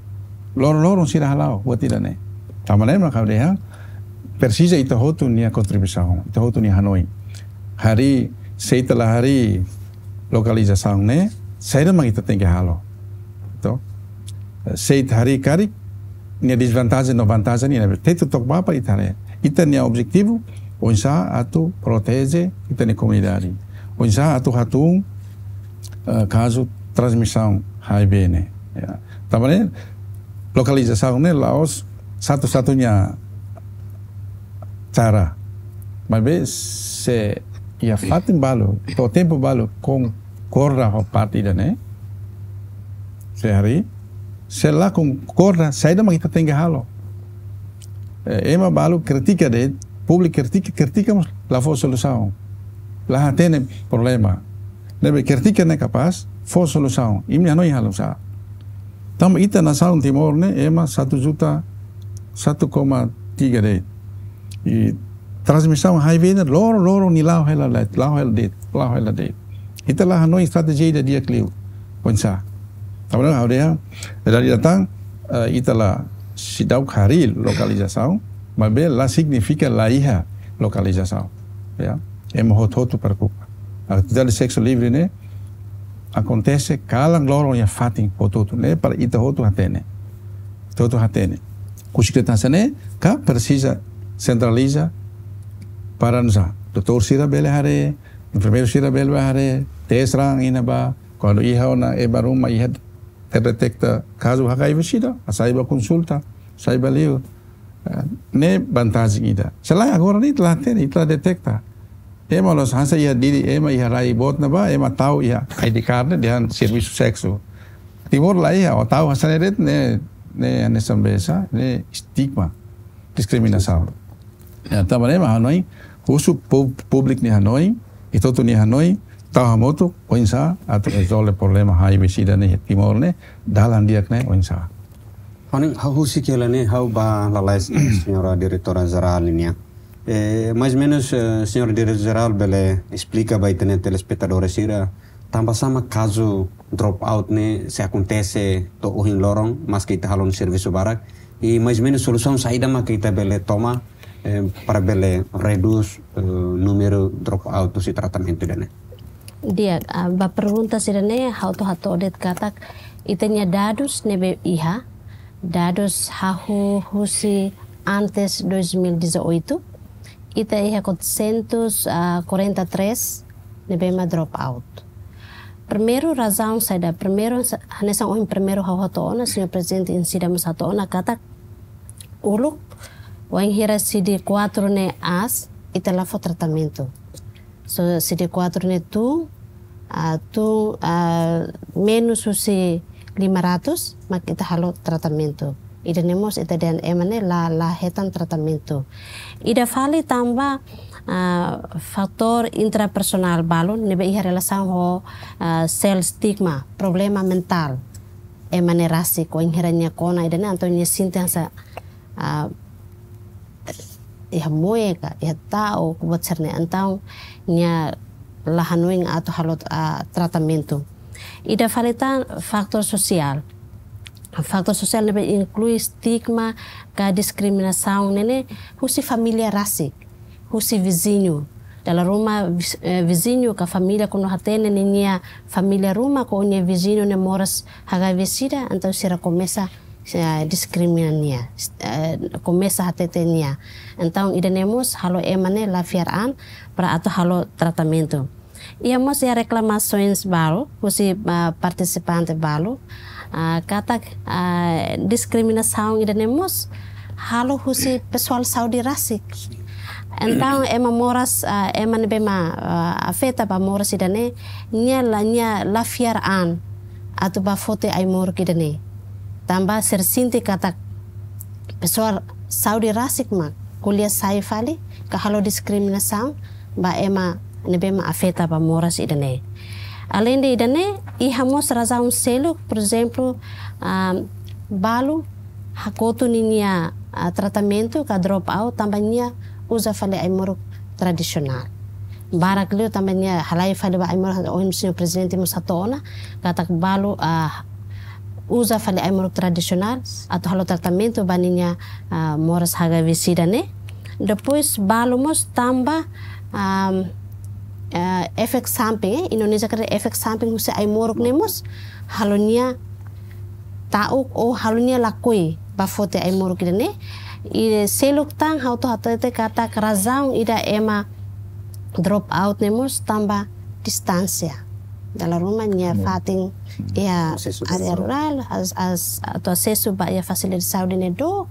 Loron-loron sira hala'o, buat ida-ne'e. Tanba ne'e mak ha'u dehan, presiza ita hotu nia kontribuisaun, ita hotu nia hanoin. Harii, se ita la harii lokalizasaun ne'e, saida mak ita tenke halo. Entaun, se ita harii karik, nia dezvantajen no vantajen nian, ne'ebé ita took bapa ita haree. Ita-nia objetivu, oinsá atu proteje ita-nia komunidade. Oinsá atu hatún, eh, kazu transmisaun H I V ne'e. Ya. Tanba ne'e, lokalizasaun ne'e la'ós satu-satunya cara. Maibé se iha fatin balu, to'o tempu balu konkorda ho parte ida-ne'e, se harii, se la konkorda, saida mak ita tenke halo. Eh, ema balu kritika de'it, públiku kritika, kritika mós la fó solusaun. La hatene problema. Ne'ebé kritika ne'e kapás fó solusaun. Imi hanoin halo oinsá. Tanba ita nasaun Timor ne'e ema satu juta, satu koma tiga de'it. I transmisaun H I V ne'e loron-loron nia la'o hela de'it, la'o hela de'it, la'o hela de'it. Ita la hanoin estratéjia ida di'ak liu. Oinsá. Tanba ne'e ha'u dehan, dari datang, eh, ita la seidauk harii lokalizasaun, maibé la signifika la iha lokalizasaun. Ya. Ema hotu-hotu preokupa. Atividade seksu livre ne'e akontese kalan loron iha fatin hotu-hotu ne'e para ita hotu hatene. Ita hotu hatene. Husik de'it hanesan ne'e, ka presiza sentraliza para nu'usá. Doutór sira bele haree, enfermeiru sira bele haree, tes raan iha ne'ebá, kuandu iha ona ema ruma iha deteta kazu H I V sida, hasai bá konsulta, sai bá liur. Eh, ne'e vantajen ida. Se lae agora ne'e ita la hatene, ita la deteta. Ema la'ós hanesan iha Dili, ema iha rai boot ne'ebá, ema tau iha I D card ne'e dehan servisu seksu. Timor la iha, ó tau hanesan ne'e de'it ne'e, ne'e hanesan biasa, ne'e estigma, diskriminasaun. Ya, tanba ne'e mak hanoin, husu pú-, públiku nia hanoin, ita hotu nia hanoin, tau hamutuk, oinsá atu rezolve problema H I V sida ne'e Timor ne'e, dalan di'ak ne'e, oinsá. Ha'u-nia, ha'u husik hela ne'e, ha'u bá lalais, señora diretora jerál nian. Eh, mais ou menus, eh, señora diretora jerál bele esplika ba ita-nia telespetadór sira, tanbasá mak kazu dropout ne'e sei akontese to'o ohin loron, maske ita halo servisu barak. I mais ou menus solusaun saida mak ita bele toma, eh, para bele redús, eh, númeru dropout husi tratamentu ida-ne'e. Di'ak, ah, ba pergunta sira-ne'e, ha'u atu hato'o de'it katak, ita-nia dadus ne'ebé iha, dadus hahú husi antes dois mil e dezoito, ita iha quatrocentos, ah, quarenta e três ne'ebé mak dropout. Primeiru razaun saida, primeiru sa-, hanesan ohin primeiru ha'u hato'o ona, señór prezidente sira mós hato'o ona katak uluk, wainhira C D quatro ne'e aas, ita la fó tratamentu. So, C D quatro ne'e tun, ah, tun, ah, menus husi lima ratus mak ita halo tratamentu. Ida-ne'e mós ita dehan ema ne'e la, la hetan tratamentu. Ida fali tanba, ah, fatór intrapersonál balu ne'ebé iha relasaun ho, ah, self stigma, problema mentál. Ema ne'e rasik, wainhira nia kona ida-ne'e entaun nia sente hanesan, ah, iha moe ka, iha ta'uk, buat sira-ne'e, entaun nia la hanoin atu halo, ah, tratamentu. Ida fali tan fatór sosiál. Fatór sosiál ne'ebé inklui stigma ka diskriminasaun ne'e ne'e husi família rasik, husi viziñu. Dala ruma vis-, eh, viziñu ka família kuandu hatene ninia família ruma ka nia viziñu ne'e moras H I V sida, entaun sira komesa, eh, diskrimina nia, eh, komesa hatete nia. Entaun ida-ne'e mós halo ema ne'e la fiar an para atu halo tratamentu. Iha mós iha reklamasoens balu husi, ah, partisipante balu, ah, katak, ah, diskriminasaun ida-ne'e mós halo husi pesoál saúde rasik. Entaun ema moras, ah, ema ne'ebé mak, ah, afeta ba moras ida-ne'e, nia la, nia la fiar an atu bá foti ai-moruk ida-ne'e. Tanba sira sente katak pesoál saúde rasik mak ko'alia sai fali ka halo diskriminasaun ba ema ne'ebé mak afeta ba moras ida-ne'e. Aleinde ida-ne'e, iha mós razaun seluk, por ezemplu, ah, balu hakotu ninia, ah, tratamentu ka drop out tanba nia uza fali ai-moruk tradisionál. Barak liu tanba nia halai fali ba ai-moruk, ohin señór prezidente mós hato'o ona, katak balu, ah, uza fali ai-moruk tradisionál atu halo tratamentu ba ninia, ah, moras H I V sida ne'e. Depois balu mós tanba, am, eh, efek samping, eh, Indonézia karik efek samping husi ai-moruk ne'e mós halo nia ta'uk ou halo nia lakohi bá foti ai-moruk ida-ne'e. I seluk tan ha'u atu hatete katak razaun ida ema drop out ne'e mós tanba distánsia. Dala ruma nia fatin iha área rurál, as, as, atu asesu ba iha fasilidade saúde ne'e dook,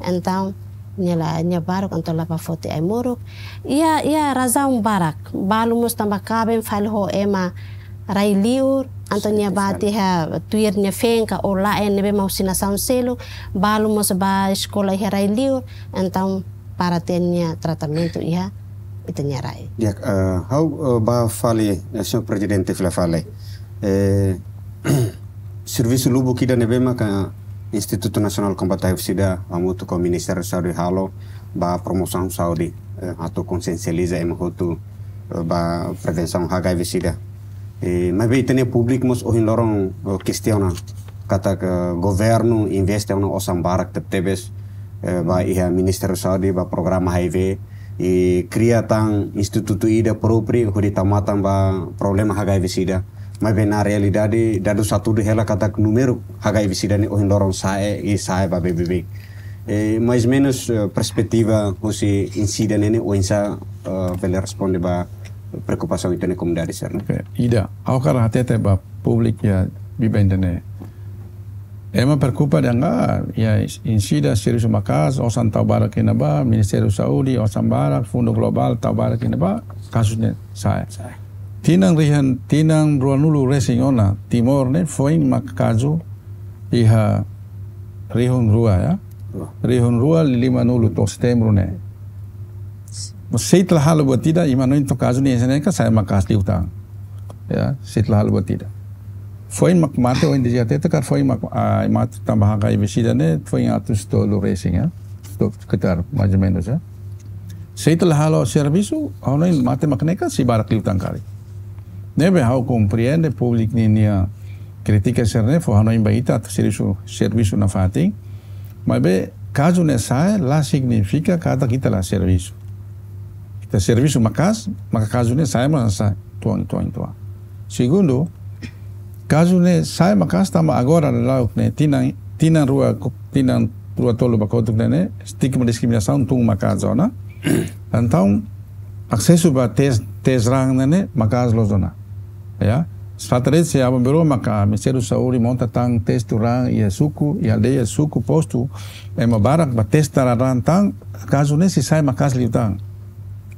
entaun nia la, nia baruk entaun la bá foti ai-moruk. Iha, iha razaun barak, balu mós tanba kaben fali ho ema rai-liur, entaun nia bá tiha tuir nia feen ka ou la'en ne'ebé mak husi nasaun seluk, balu mós bá eskola iha rai-liur, entaun para tiha nia tratamentu iha ita-nia rai. Ya, eh, ha'u, eh, bá fali, eh, señór prezidente fila fali. Eh, servisu lubuk ida ne'ebé maka Institutu Nasionál Kombate H I V sida hamutuk ho Ministériu Saúde halo ba promosaun saúde, eh, atu konsiensializa ema hotu, eh, ba prevensaun H I V sida. Eh, maibé ita-nia públiku mós ohin loron, eh, kestiona katak governu investe ona osan barak tebetebes, eh, ba iha Ministériu Saúde, ba programa H I V, i kria tan institutu ida própriu hodi tau matan ba problema H I V sida. Maibé na realidade, dadus hatudu hela katak númeru H I V sida ne'e ohin loron sa'e, i sa'e ba beibeik. Eh, mais menus, eh, perspetiva husi INCIDA ne'e ne'e oinsá, eh, bele responde ba preokupasaun ita-nia komunidade sira-ne'e? Oke, ida, ha'u hakarak hatete ba públiku iha biban ida-ne'e. Ema preokupa dehan, ah, iha INCIDA servisu maka'as, osan tau barak iha ne'ebá, Ministériu Saúde, osan barak, Fundu Globál tau barak iha ne'ebá, kazu ne'e sa'e. Sa'e. Tinan rihun, tinan ruanulu resin ona, Timor ne'e foin mak kazu iha rihun rua, ya. Rua. Rihun rua limanulu to'o Setembru ne'e. Sei la halo buat ida, imi hanoin to'ok kazu ne'e hanesan ne'e ka sa'e maka'as liután. Ya, sei la halo buat ida. Foin mak mate ohin dia hatete katak foin mak, ah, mate tanba H I V sida ne'e, foin atus tolu resin, ya. To'o sekitar, mais ou menus, ya. Sei la halo servisu, ha'u hanoin mate mak ne'e ka sei barak liután karik. Ne'ebé ha'u komprende públiku ninia krítika sira-ne'e, fó hanoin ba ita atu servisu, servisu nafatin. Maibé kazu ne'e sa'e la signifika katak ita la servisu. Ita servisu maka'as, maka kazu ne'e sa'e mak sa'e, tuan, tuan, tuan. Segundu, kazu ne'e sa'e maka'as tanba agora daudaun ne'e tinan, tinan rua, tinan rua tolu ba kotuk ne'e ne'e, stigma diskriminasaun tun maka'as ona. Entaun, asesu ba teste, teste raan ne'e ne'e maka'as loos ona. Ya, fatin de'it se aban-bainrua maka Ministériu Saúde monta tan teste raan iha suku, iha aldeia, suku, postu, ema barak bá teste raan tan, kazu ne'e sei sa'e maka'as liután.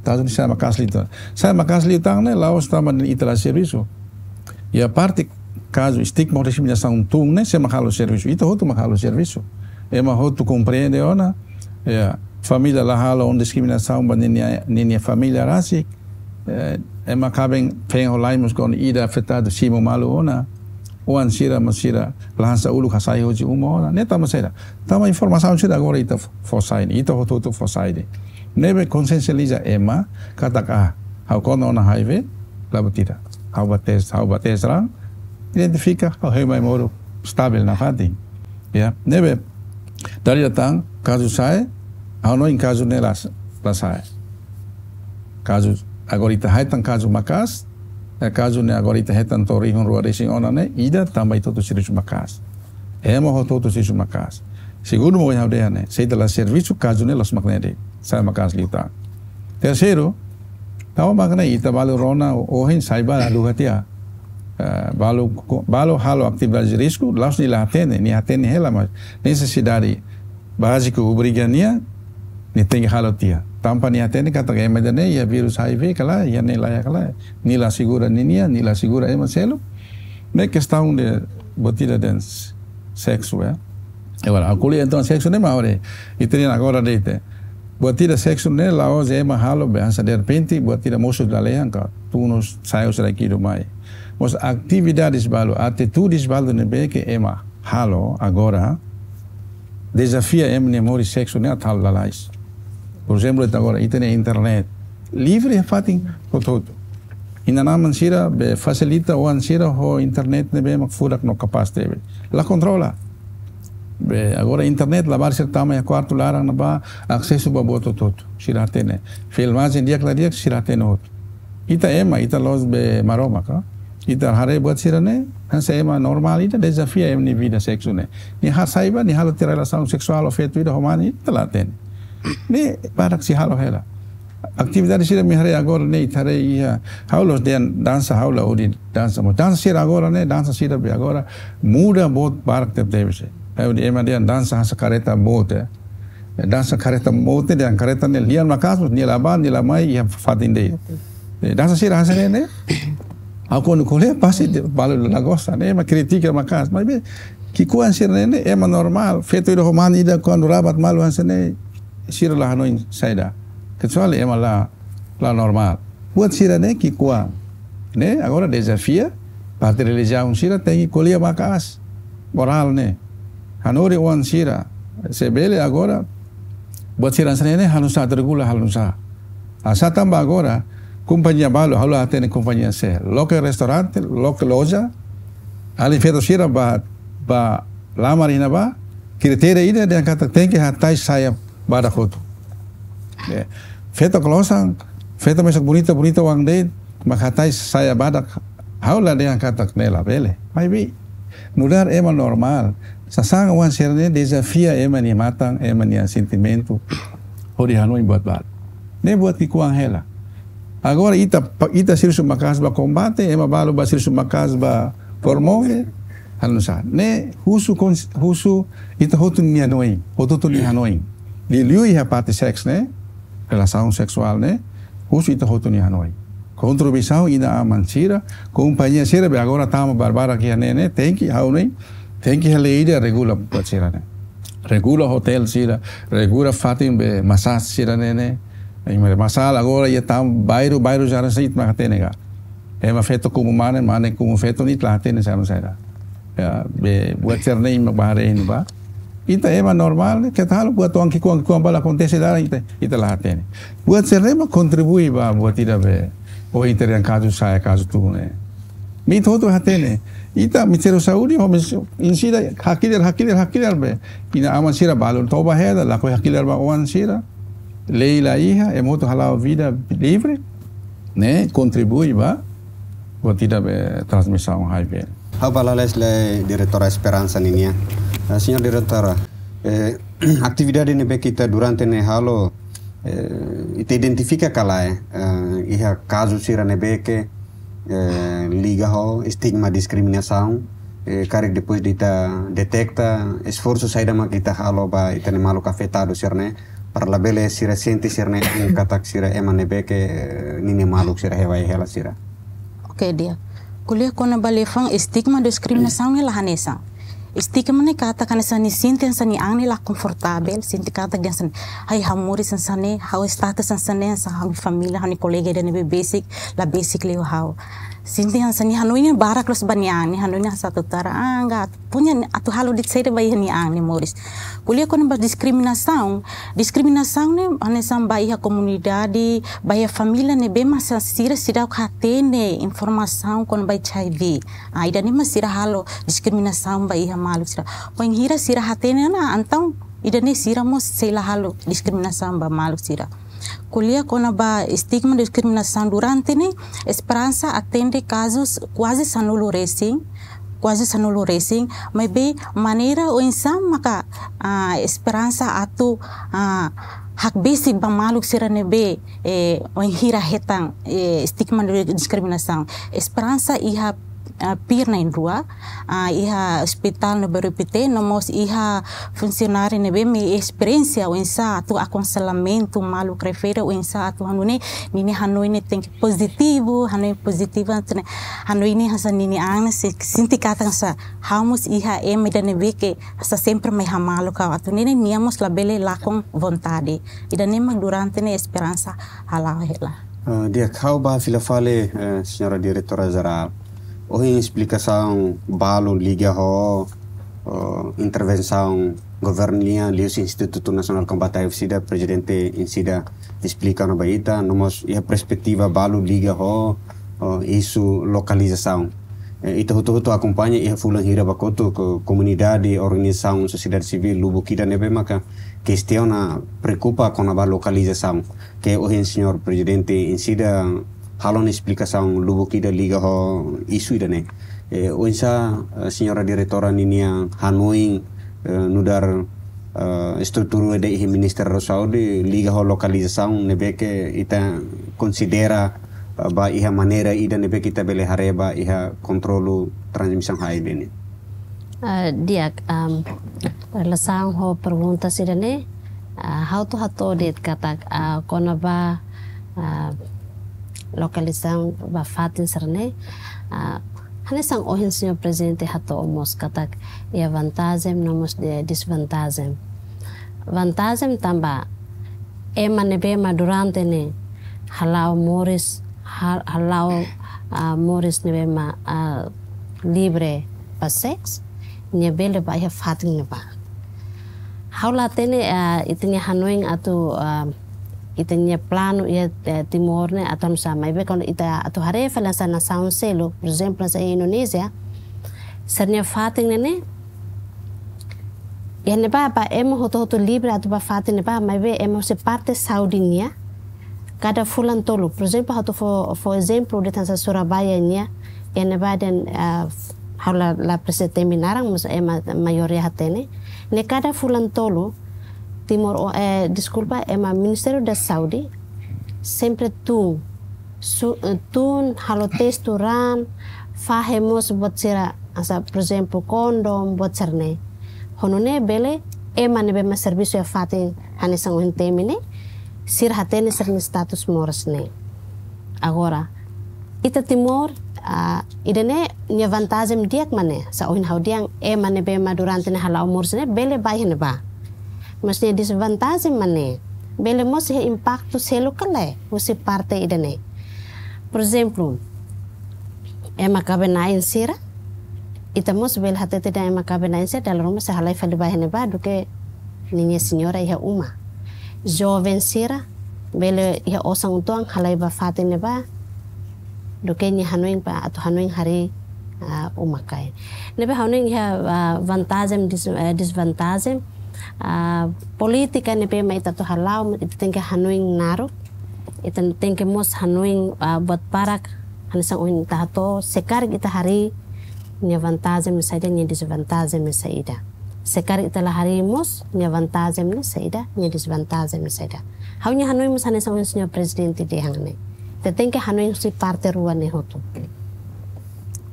Kazu ne'e sa'e maka'as liután. Sa'e maka'as liután ne'e la'ós tanba ita la servisu. Iha parte kazu estigma ho diskriminasaun tun ne'e, sé mak halo servisu? Ita hotu mak halo servisu. Ema hotu komprende ona, ya, família la halo ona diskriminasaun ba ninia, ninia família rasik. Eh, ema kaben feen ho la'en mós kuandu ida afetadu simu malu ona. Oan sira mós sira la hanesan uluk hasai hosi uma ona. Ne'e tanba saida? Tanba informasaun sira agora ita fó sai, ita hotu-hotu fó sai. Ne'ebé konsiensializa ema katak, ah, ha'u konta ona H I V, la buat ida. Ha'u bá tes, ha'u bá tes raan, identifika, ha'u hein mai moru stabil nafatin. Ya, ne'ebé, dala ida tan, kazu sa'e, ha'u hanoin kazu ne'e la, la sa'e. Kazu, agora ita hetan kazu maka'as, eh, kazu ne'e agora ita hetan to'o rihun rua resin ona ne'e, ida tanba ita hotu servisu maka'as. Ema hotu-hotu servisu maka'as. Segundu mak ohin ha'u dehan ne'e, se ita la servisu kazu ne'e la'ós mak ne'e de'it, sa'e maka'as liután. Terseiru, tau mak ne'e ita balu rona ohin sai ba haluha tiha. Eh, balu, balu halo atividade de risku, la'ós nia la hatene, nia hatene hela, mas nesesidade báziku obriga nia, nia tenke halo tiha. Tanba nia hatene katak ema ida-ne'e iha vírus H I V ka lae, iha ne'e laiha ka lae. Nia la asegura ninia, nia la asegura ema seluk. Ne'e kestaun de buat ida dehan s-, seksu, ya. Agora, ha'u ko'alia entaun seksu ne'e mak agora, ita-nian agora de'it. Buat ida seksu ne'e la'ós ema halo be hanesan derrepente, buat ida mosu lalehan ka tun no sai husi rai ki'ik mai. Mas atividades balu, atitudes balu ne'ebé ke ema halo agora, dezafia ema nia moris seksu ne'e atu halo lalais. Por ezemplu, ita agora, ita-nia internet. Livre iha fatin hotu-hotu. Inan-aman sira be fasilita oan sira ho internet ne'ebé mak furak no kapás tebes. La kontrola. Be agora internet labarik sira tama iha kuartu laran ne'ebá, asesu ba buat hotu-hotu. Sira hatene. Filmajen di'ak la di'ak, sira hatene hotu. Ita ema, ita la'ós be Maromak ka. Ita haree buat sira-ne'e, hanesan ema normál ida dezafia ema nia vida seksu ne'e. Nia hasai ba, nia halo tiha relasaun seksuál ho feto ida ho mane, ita la hatene. Ne'e barak sei halo hela. Atividade sira imi haree agora ne'e, ita haree iha, ha'u la'ós dehan dansa, ha'u la odi dansa. Mas dansa sira agora ne'e, dansa sira be agora muda boot barak tebetebes. Ha'u dehan ema dehan dansa hanesan karreta boot, eh. Dansa karreta boot dehan karreta ne'e lian maka'as, nia la bá, nia la mai, iha fatin de'it. Eh, dansa sira hanesan ne'e, ne'e. Ha'u kuandu ko'alia pasti dehan balu la gosta, ne'e ema kritika maka'as. Maibé, ki'ikoan sira-ne'e, ne'e ema normál. Feto ida ho mane ida kuandu rabat malu hanesan ne'e, sira la hanoin saida. Kecuali ema la, la normál. Buat sira-ne'e ki'ikoan. Ne'e, agora dezafia, parte relijiaun sira tenke ko'alia maka'as. Morál ne'e. Hanorin oan sira. Se bele agora, buat sira hanesan ne'e, halo nusá, atu regula halo nusá. Hanesan tanba agora, kompañia balu, ha'u la hatene kompañia sé. Loke restaurante, loke loja, alin feto sira bá, bá lamar iha ne'ebá, kritéria ida dehan katak tenke hatais saia badak hotu. Eh, feto klosan, feto mesak bonita, bonita oan de'it, mak hatais saia badak, ha'u la dehan katak ne'e labele. Maibé, nu'udar ema normál, sasán oan sira-ne'e dezafia ema nia matan, ema nia sentimentu, hodi hanoin buat balu. Ne'e buat ki'ikoan hela. Agora ita, ita servisu maka'as ba kombate, ema balu bá servisu maka'as ba promove, halo nusá. Ne'e husu kons-, husu ita hotu nia hanoin, hotu-hotu nia hanoin. Liuliu iha parte seks ne'e, relasaun seksuál ne'e, husu ita hotu nia hanoin. Kontribuisaun inan-aman sira, kompañia sira be agora tama barbarak iha ne'e ne'e, tenke, ha'u hanoin, tenke iha lei ida regula buat sira-ne'e. Regula hotel sira, regula fatin be masas sira-ne'e ne'e. Ai, mare masala agora iha tan bairru, bairru sira-ne'e ita mak hatene ka. Ema feto kumu mane, mane kumu feto ne'e ita la hatene saida, saida. Ya, be, buat sira-ne'e mak bá haree iha ne'ebá. Ita ema normál ne'e, keta halo buat oan ki'ikoan, ki'ikoan balu akontese dala ita, ita la hatene. Buat sira-ne'e mak kontribui ba buat ida be, ohin ita dehan kazu sa'e, kazu tun ne'e. Ita hotu hatene. Ita Ministériu Saúde, ho mis-, insi ida hakilar, hakilar, hakilar be. Inan-aman sira balu toba hela, lakohi hakilar ba oan sira. Lei la iha, ema hotu hala'o vida livre, ne'e kontribui ba buat ida be transmisaun H I V. Ha'u bá lalais lai Diretora Esperança ninian. Eh, Señora Diretora, eh, atividade ne'ebé ke ita durante ne'e halo, eh, ita identifika ka lae, eh, iha kazu sira ne'ebé ke, eh, liga ho estigma diskriminasaun, eh, karik depois de ita deteta, esforsu saida mak ita halo ba ita-nia maluk afetadu sira-ne'e, para labele sira sente sira-ne'e katak sira ema ne'ebé ke, eh, ninia maluk sira hela hela sira. Oke, di'ak. Ko'alia kona-ba liafuan estigma diskriminasaun ne'e la hanesan. Estigma ne'e katak hanesan nia sente hanesan nia an ne'e la konfortavel, sente katak hanesan, ai, ha'u moris hanesan ne'e, ha'u status hanesan ne'e, hanesan ha'u-nia família, ha'u-nia kolega ida ne'ebé besik, la besik liu ho ha'u. Sente hanesan nia hanoin ne'e barak loos ba nia an, nia hanoin hanesan atu tara angka, punya atu halo de'it saida ba iha nia an nia moris. Ko'alia kona-ba diskriminasaun, diskriminasaun ne'e hanesan ba iha komunidade, ba iha família ne'ebé mak sira seidauk hatene informasaun kona-ba H I V. Ah, ida-ne'e mak sira halo diskriminasaun ba iha maluk sira. Wainhira sira hatene ona, entaun ida-ne'e sira mós sei la halo diskriminasaun ba maluk sira. Ko'alia kona-ba estigma diskriminasaun durante ne'e, Esperansa atende kazus kuaze sanulu resin, kuaze sanulu resin, maibé maneira oinsá maka, ah, Esperansa atu, ah, hakbesik ba maluk sira ne'ebé, eh, wainhira hetan, eh, estigma diskriminasaun. Esperansa iha, ah, pir na'in-rua, ah, iha ospitál ne'ebé repete, no mós iha funsionáriu ne'ebé mai esperiénsia oinsá atu akonsellamentu maluk refere oinsá atu hanoin ne'e, ninia hanoin ne'e tenke pozitivu, hanoin pozitivu, atu ne'e, hanoin ne'e hanesan ninia an ne'e se-, sente katak hanesan ha'u mós iha ema ida ne'ebé ke hanesan sempre mai hamaluk ha'u, atu nune'e nia mós labele lakon vontade. Ida-ne'e mak durante ne'e Esperansa hala'o hela. Ah, di'ak, ha'u bá fila fali, eh, Señora Diretora Jerál. Ohin esplikasaun balu liga ho, oh, intervensaun governu nian liuhusi Institutu Nasionál Kombate H I V/SIDA, Prezidente Insi ida esplika ona ba ita, no mós iha perspetiva balu liga ho, oh, isu lokalizasaun. Eh, ita hotu-hotu akompaña iha fulan hira ba kotuk, ko-, komunidade, organizasaun sosiedade sivíl lubuk ida ne'ebé maka kestiona, preokupa kona-ba lokalizasaun. Ke ohin Señór Prezidente Insi ida halo ona esplikasaun lubuk ida liga ho isu ida-ne'e. Eh, oinsá, eh, Señora Diretora ninia hanoin, eh, nu'udar, eh, estrutura ida iha Ministériu Saúde liga ho lokalizasaun ne'ebé ke ita konsidera, eh, ba iha maneira ida ne'ebé ke ita bele haree ba iha kontrolu transmisaun H I V ne'e. Ah, di'ak, am, relasaun ho pergunta sira-ne'e, ah, ha'u atu hato'o de'it katak, ah, kona-ba, ah, lokalizasaun ba fatin sira-ne'e, ah, hanesan ohin Señór Prezidente hato'o mós katak iha vantajen no mós iha desvantajen. Vantajen tanba ema ne'ebé mak durante ne'e hala'o moris, ha-, hala'o, ah, moris ne'ebé mak, ah, livre ba seks, nia bele bá iha fatin ne'ebá. Ha'u la hatene, ah, ita-nia hanoin atu, ah, ita-nia planu iha, eh, Timor ne'e atu hanesan, maibé kuandu ita atu haree fali hanesan nasaun seluk, por ezemplu, hanesan iha Indonézia, sira-nia fatin ne'e ne'e, iha ne'ebá ba ema hotu-hotu livre atu bá fatin ne'ebá, maibé ema husi parte saúde nian, kada fulan tolu. Por ezemplu, ha'u atu fó, fó ezemplu de'it hanesan Surabaya nian, iha ne'ebá dehan, ah, ha'u la, la presiza temi naran, mas ema maioria hatene. Ne'e kada fulan tolu, Timor, eh, deskulpa, ema Ministériu da Saúde sempre tun, su-, eh, tun, halo testu raan, fahe mós buat sira, hanesan, por ezemplu, kondom, buat sira-ne'e. Ho nune'e bele, ema ne'ebé mak servisu iha fatin hanesan ohin temi ne'e, sira hatene sira-nia status moras ne'e. Agora, ita Timor, ah, ida-ne'e nia vantajen di'ak mak ne'e, hanesan ohin ha'u dehan ema ne'ebé mak durante ne'e hala'o moras ne'e, bele bá iha ne'ebá. Mas nia desvantajen mak ne'e, bele mós iha impaktu seluk ka lae, husi parte ida-ne'e. Por ezemplu, ema kaben-na'in sira, ita mós bele hatete dehan ema kaben-na'in sira dala ruma sei halai fali bá iha ne'ebá duké ninia señora iha uma. Joven sira, bele iha osan uitoan halai bá fatin ne'ebá, duké nia hanoin bá atu hanoin harii, ah, uma-kain. Ne'ebé ha'u hanoin iha, ah, vantajen, des-, eh, desvantajen, ah, polítika ne'ebé mak ita atu hala'o, ita tenke hanoin naruk, ita tenke mós hanoin, ah, buat barak, hanesan ohin ita hato'o, se karik ita harii, nia vantajen mak saida, nia desvantajen mak saida. Se karik ita la harii mós, nia vantajen mak saida, nia desvantajen mak saida. Ha'u-nia hanoin mós hanesan ohin Señór Prezidente dehan ne'e. Ita tenke hanoin husi parte rua ne'e hotu.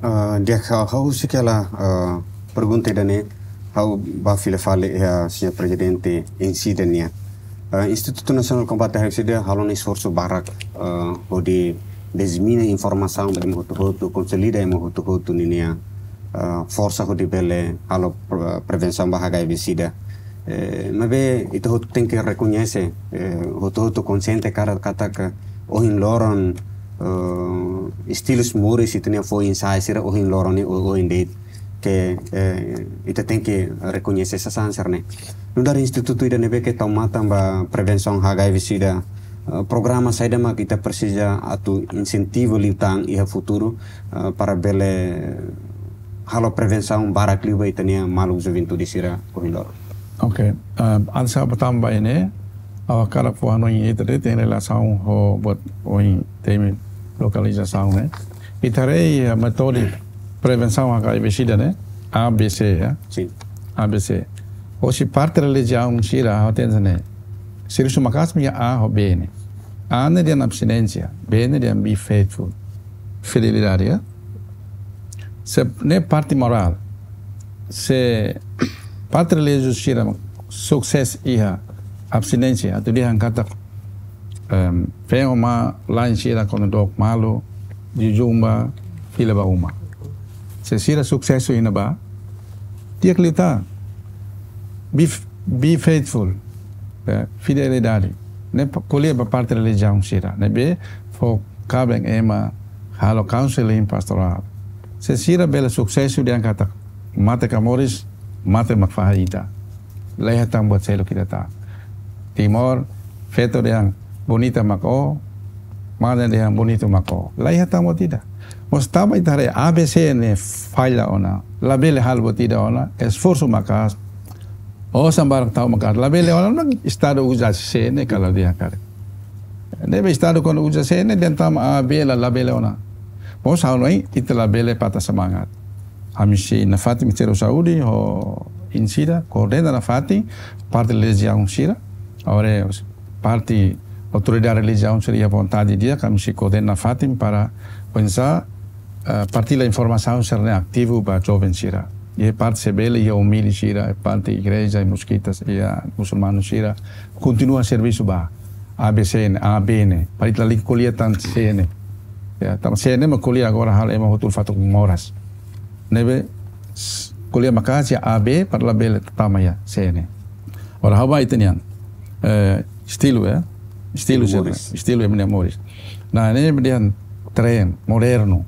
Ah, di'ak, ha'u, ha'u husik hela, ah, pergunta ida-ne'e, ha'u bá fila fali iha Señór Prezidente Insi ida nian. Ah, Institutu Nasionál Kombate H I V/SIDA halo ona esforsu barak, ah, hodi disemina informasaun ba ema hotu-hotu, konsolida ema hotu-hotu ninia, ah, forsa hodi bele halo pre-, prevensaun ba H I V sida. Eh, maibé ita hotu tenke rekoñese, eh, hotu-hotu konxiente katak, katak ohin loron, eh, istilus moris ita-nia foin-sa'e sira ohin loron ne'e o-, ohin de'it ke, eh, ita tenke rekoñese sasán sira-ne'e. Nu'udar institutu ida ne'ebé ke tau matan ba prevensaun H I V sida, eh, programa saida mak ita presiza atu insentivu liután iha futuru, eh, para bele halo prevensaun barak liu ba ita-nia maluk juventude sira ohin loron. Oke, eh, antes ha'u bá tama ba ne'e, ha'u hakarak fó hanoin ida de'it iha relasaun ho buat ohin temi lokalizasaun ne'e. Ita haree, eh, métodu prevensaun H I V sida ne'e, A B C, ya. Sin. A B C. Hosi parte relijiaun sira, ha'u hatene ne'e. Sira husu maka'as mak iha A ho B ne'e. A ne'e dehan abstinénsia, B ne'e dehan be faithful. Fidelidade, ya. Se ne'e parte morál. Se parte relijiozu sira sukses iha abstinénsia, atu dehan katak, em, feen ho mane-laen sira kuandu dook malu, jejún ba, fila ba uma. Se sira susesu iha ne'ebá, di'ak liután. Be f-, be faithful. Eh, fidelidade. Ne'e pa-, ko'alia ba parte relijiaun sira. Ne'ebé fó kaben ema halo counseling pastorál. Se sira bele susesu dehan katak mate ka moris, mate mak fahe ita. La iha tan buat seluk ida tan. Timor, feto dehan bonita mak ó, mane dehan bonitu mak ó. La iha tan buat ida. Mós tanba ita haree A B C ne'e falla ona. Labele halo buat ida ona, esforsu maka'as. Osan barak tau maka'as. Labele ona, Estadu uza C ne'e ka la dehan karik. Ne'ebé Estadu kuandu uza C ne'e, dehan tama A B la, labele ona. Mós ha'u hanoin, ita labele patah semangat. Ami sei nafatin Ministériu Saúde ho INSIDA, koordena nafatin parte relijiaun sira. Agora parte autoridade relijiaun sira iha vontade di'ak, ami sei koordena nafatin para oinsá, eh, partilla informasaun sira-ne'e ativu ba joven sira. Iha parte se bele iha umili sira, parte igreja, iha mezquitas, iha musulmanu sira. Kontinua servisu ba A B C ne'e, A B ne'e. Para ita lalika ko'alia tan C ne'e. Ya, tanba C ne'e mak ko'alia agora halo ema hotu fatuk moras. Ne'ebé s-, ko'alia maka'as iha A B para labele tama iha C ne'e. Agora ha'u bá ita-nian, eh, estilu, ya. Estilu, estilu sira, moris. Estilu ema nia moris. Nah, ne'e dehan tren, modernu.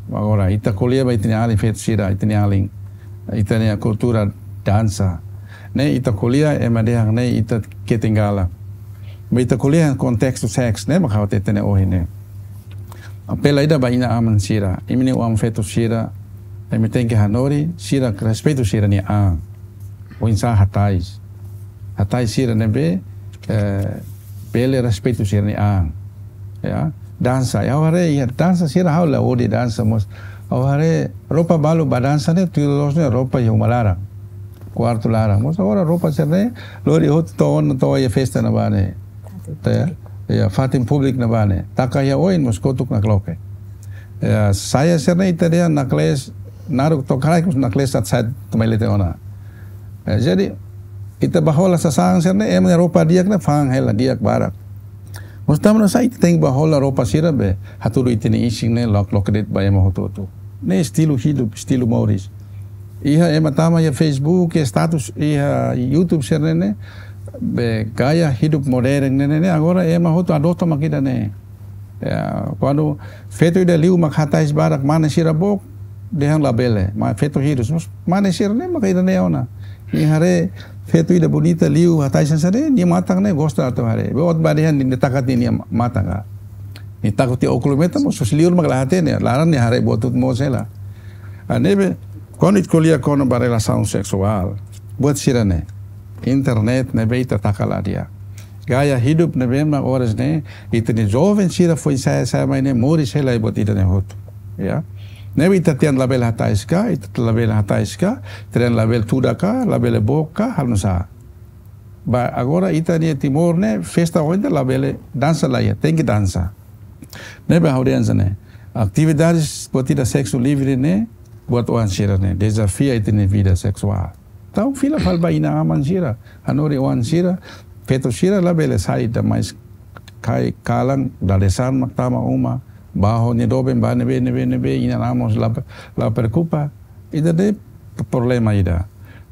Agora, ita ko'alia ba ita-nia alin feto sira, ita-nia alin, ita-nia kultura dansa. Ne'e ita ko'alia, ema dehan ne'e ita ketinggalan. Ba ita ko'alia kontestu seks, ne'e mak ha'u hatete ne'e ohin ne'e. Apela ida ba inan-aman sira, imi-nia oan feto sira, imi tenke hanorin, sira respeitu sira-nia an. Oinsá hatais. Hatais sira ne'ebé, eh, bele respeitu sira-nia an. Ya, dansa. Ya, ha'u haree, ya, dansa sira ha'u la odi dansa, mós ha'u haree roupa balu ba dansa ne'e, tuir loos ne'e roupa iha uma laran. Kuartu laran. Mós agora roupa sira-ne'e, lori hotu to'o ona to'o iha festa ne'ebá ne'e. Fatin públiku. Ya, ya, fatin públiku ne'ebá ne'e. Taka iha oin, mós kotuk nakloke. Ya, saia sira-ne'e ita dehan naklees, naruk to'o kraik, mós naklees sat sat tamai lete ona. Eh, jadi, ita bá hola sasán sira-ne'e, ema nia roupa di'ak ne'e fa'an hela di'ak barak. Mós tanba ne'e saida ita tenke bá hola roupa sira be hatudu ita-nia isin ne'e lok-, loke de'it ba ema hotu-hotu. Ne'e estilu hidup, estilu moris. Iha ema tama iha Facebook, iha status, iha YouTube sira-ne'e, be gaya hidup modern ne'e, ne'e, agora ema hotu adota mak ida-ne'e. Ya, kuandu feto ida liu mak hatais barak, mane sira book, dehan labele, ma feto hirus. Mós mane sira-ne'e mak ida-ne'e ona. Nia haree feto ida bonita liu hatais hanesan ne'e, nia matan ne'e gosta atu haree. Be ot ba dehan nia taka tiha nia matan ka. Nia taka tiha ókulu metan, mós husi liur mak la hatene, laran nia haree buat hotu moos hela. Ah, ne'ebé, kuandu ita ko'alia kona-ba relasaun seksuál, buat sira-ne'e, internet ne'ebé ita taka la di'ak. Gaya hidup ne'ebé mak oras ne'e, ita-nia joven sira foin sa'e sa'e mai ne'e, moris hela iha buat ida-ne'e hotu. Ya. Ne'ebé ita tiha labele hatais ka, ita labele hatais ka, tiha labele tuda ka, labele book ka, halo nusá. Ba, agora ita-nia Timor ne'e, festa ohin labele dansa la iha, tenke dansa. Ne'ebé ha'u dehan hanesan ne'e. Atividades buat ida seksu livre ne'e, buat oan sira-ne'e, dezafia ita-nia vida seksuál. Entaun fila fali ba inan-aman sira, hanorin oan sira, feto sira labele sai da mais kai kalan, dadeer-saan mak tama uma, ba ho nia doben ba ne'ebé, ne'ebé, ne'ebé, inan-aman mós la, la preokupa. Ida-ne'e problema ida.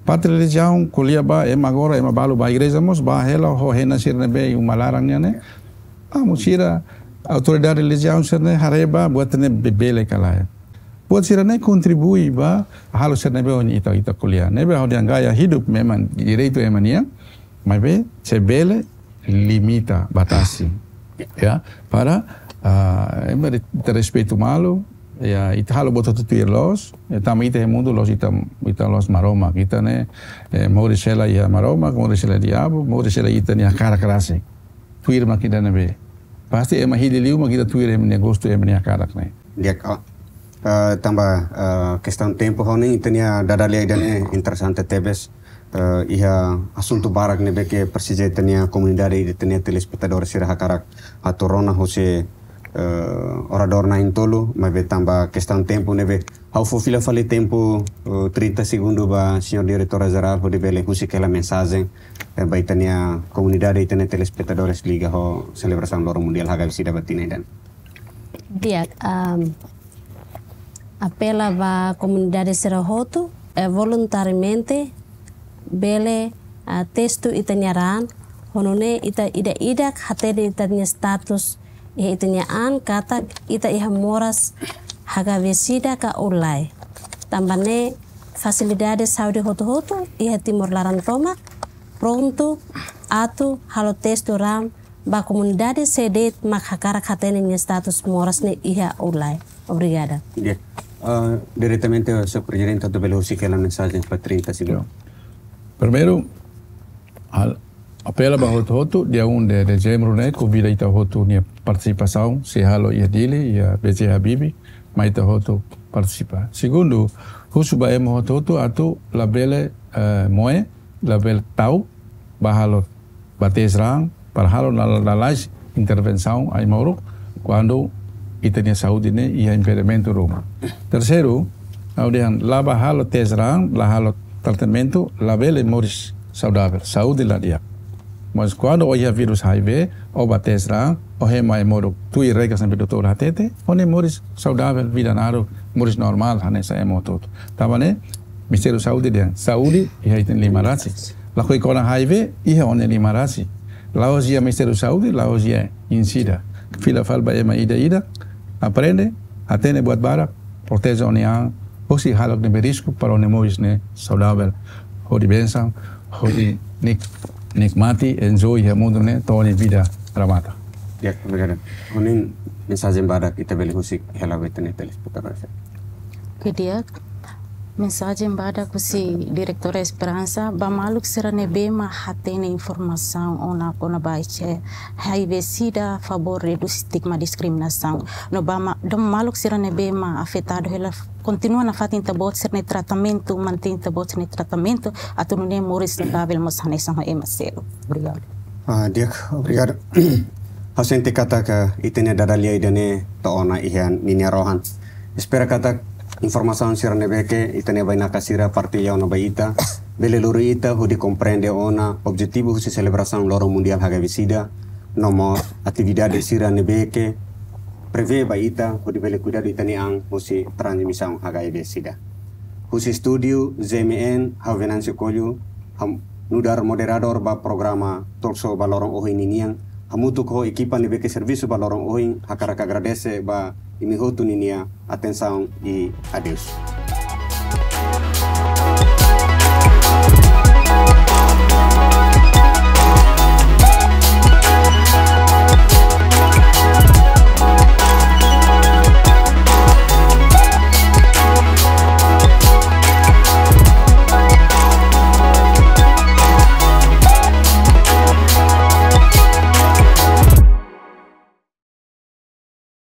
Parte relijiaun ko'alia ba, ema agora, ema balu ba igreja mós, ba hela ho hena sira ne'ebé uma laran nian ne'e. Amu sira autoridade relijiaun sira-ne'e haree ba buat ne'e be-, bele ka lae. Buat sira-ne'e kontribui ba halo sira ne'ebé ohin ita, ita ko'alia. Ne'ebé hodi angaya hidup memang direitu ema nian, maibé se bele limita, batasi. Ya, para, ah, ema de, de respeitu malu, ya, ita halo buat hotu tuir loos, ya, tanba ita iha mundu loos, ita, ita loos Maromak, ita ne'e, eh, moris hela iha Maromak, moris hela diabu, moris hela ita-nia hakarak rasik. Tuir mak ida ne'ebé. Pasti ema hili liu mak ita tuir ema nia gostu, ema nia hakarak ne'e. Di'ak, ah, tanba, ah, kestaun tempu ho ne'e, ita-nia dada lia ida-ne'e interesante tebes. Eh, iha asuntu barak ne'ebé ke presiza ita-nia komunidade, ita-nia telespetadór sira hakarak atu rona husi, eh, oradór na'in-tolu, maibé tanba kestaun tempu ne'ebé ha'u fó fila fali tempu, eh, trinta segundu ba señór diretora jerál hodi bele husik hela mensajen, eh, ba ita-nia komunidade, ita-nia telespetadores liga ho selebrasaun Loron Mundiál H I V SIDA ba tinan ida-ne'e. Di'ak, am, apela ba komunidade sira hotu, eh, voluntariamente bele, ah, testu ita-nia raan, ho nune'e ita ida-idak hatene ita-nia status, iha ita-nia an katak ita iha moras H I V SIDA ka lae. Tanba ne'e fasilidade saúde hotu-hotu iha Timor laran tomak prontu atu halo testu raan ba komunidade sé de'it mak hakarak hatene nia status moras ne'e iha ou lae. Obrigada. Di'ak. Ah, diretamente, señór prezidente, atu bele husik hela mensajen ba trinta segundu. Primeiru, ha'u apela ba hotu-hotu, dia um de dezembru ne'e, konvida ita hotu nia partisipasaun, sei halo iha Dili, iha B J Habibie, mai ita hotu partisipa. Segundu, husu ba ema hotu-hotu atu labele, eh, moe, labele ta'uk, ba halo, ba tes raan, para halo la-, la-, lalais intervensaun ai-moruk, kuandu ita-nia saúde ne'e iha impedimentu ruma. Terseiru, ha'u dehan la ba halo tes raan, la halo tratamentu, labele moris saudavel, saúde la di'ak. Mas kuandu ó iha vírus H I V, ó ba tes raan, ó hemu ai-moruk tuir regras ne'ebé doutór hatete, ó-nia moris saudavel, vida naruk, moris normál, hanesan ema hotu-hotu. Tanba ne'e, Ministériu Saúde dehan, saúde iha ita-nia liman rasik. Lakohi kona H I V, iha ó-nia liman rasik. La'ós iha Ministériu Saúde, la'ós iha INSIDA. Fila fali ba ema ida-idak, aprende, hatene buat barak, proteje ó-nia an, husi hahalok ne'ebé risku para ó-nia moris ne'e saudavel. Hodi bensaun, hodi nik-, nikmati, enjoy iha mundu ne'e, to'o ó-nia vida remata. Di'ak, obrigadu. Ho nia mensajen badak ita bele husik hela ba ita-nia telespetadór. Oke, di'ak. Mensajen badak husi Diretora Esperansa, ba maluk sira ne'ebé mak hatene informasaun ona kona-ba H I V SIDA, favór redús estigma diskriminasaun. No ba ma-, dom maluk sira ne'ebé mak afetadu hela, kontinua nafatin ita-boot sira-nia tratamentu, mantein ita-boot sira-nia tratamentu, atu nune'e moris saudavel mós hanesan ho ema seluk. Obrigadu. Ah, di'ak, obrigadu. Ha'u sente katak ita-nia dada lia ida-ne'e to'o ona iha ninia rohan. Espera katak informasaun sira ne'ebé ke ita-nia bainaka sira partilla ona ba ita, bele lori ita hodi komprende ona objetivu husi selebrasaun Loron Mundiál H I V SIDA, no mós atividade sira ne'ebé ke prevee ba ita hodi bele kuidadu ita-nia an husi transmisaun H I V SIDA. Husi estúdiu Z M N, ha'u Venâncio Coelho, ham-, nu'udar moderadór ba programa Talk Show ba loron ohin ninian, hamutuk ho ekipa ne'ebé ke servisu ba loron ohin, hakarak agradese ba imi hotu ninia atensaun i adeus.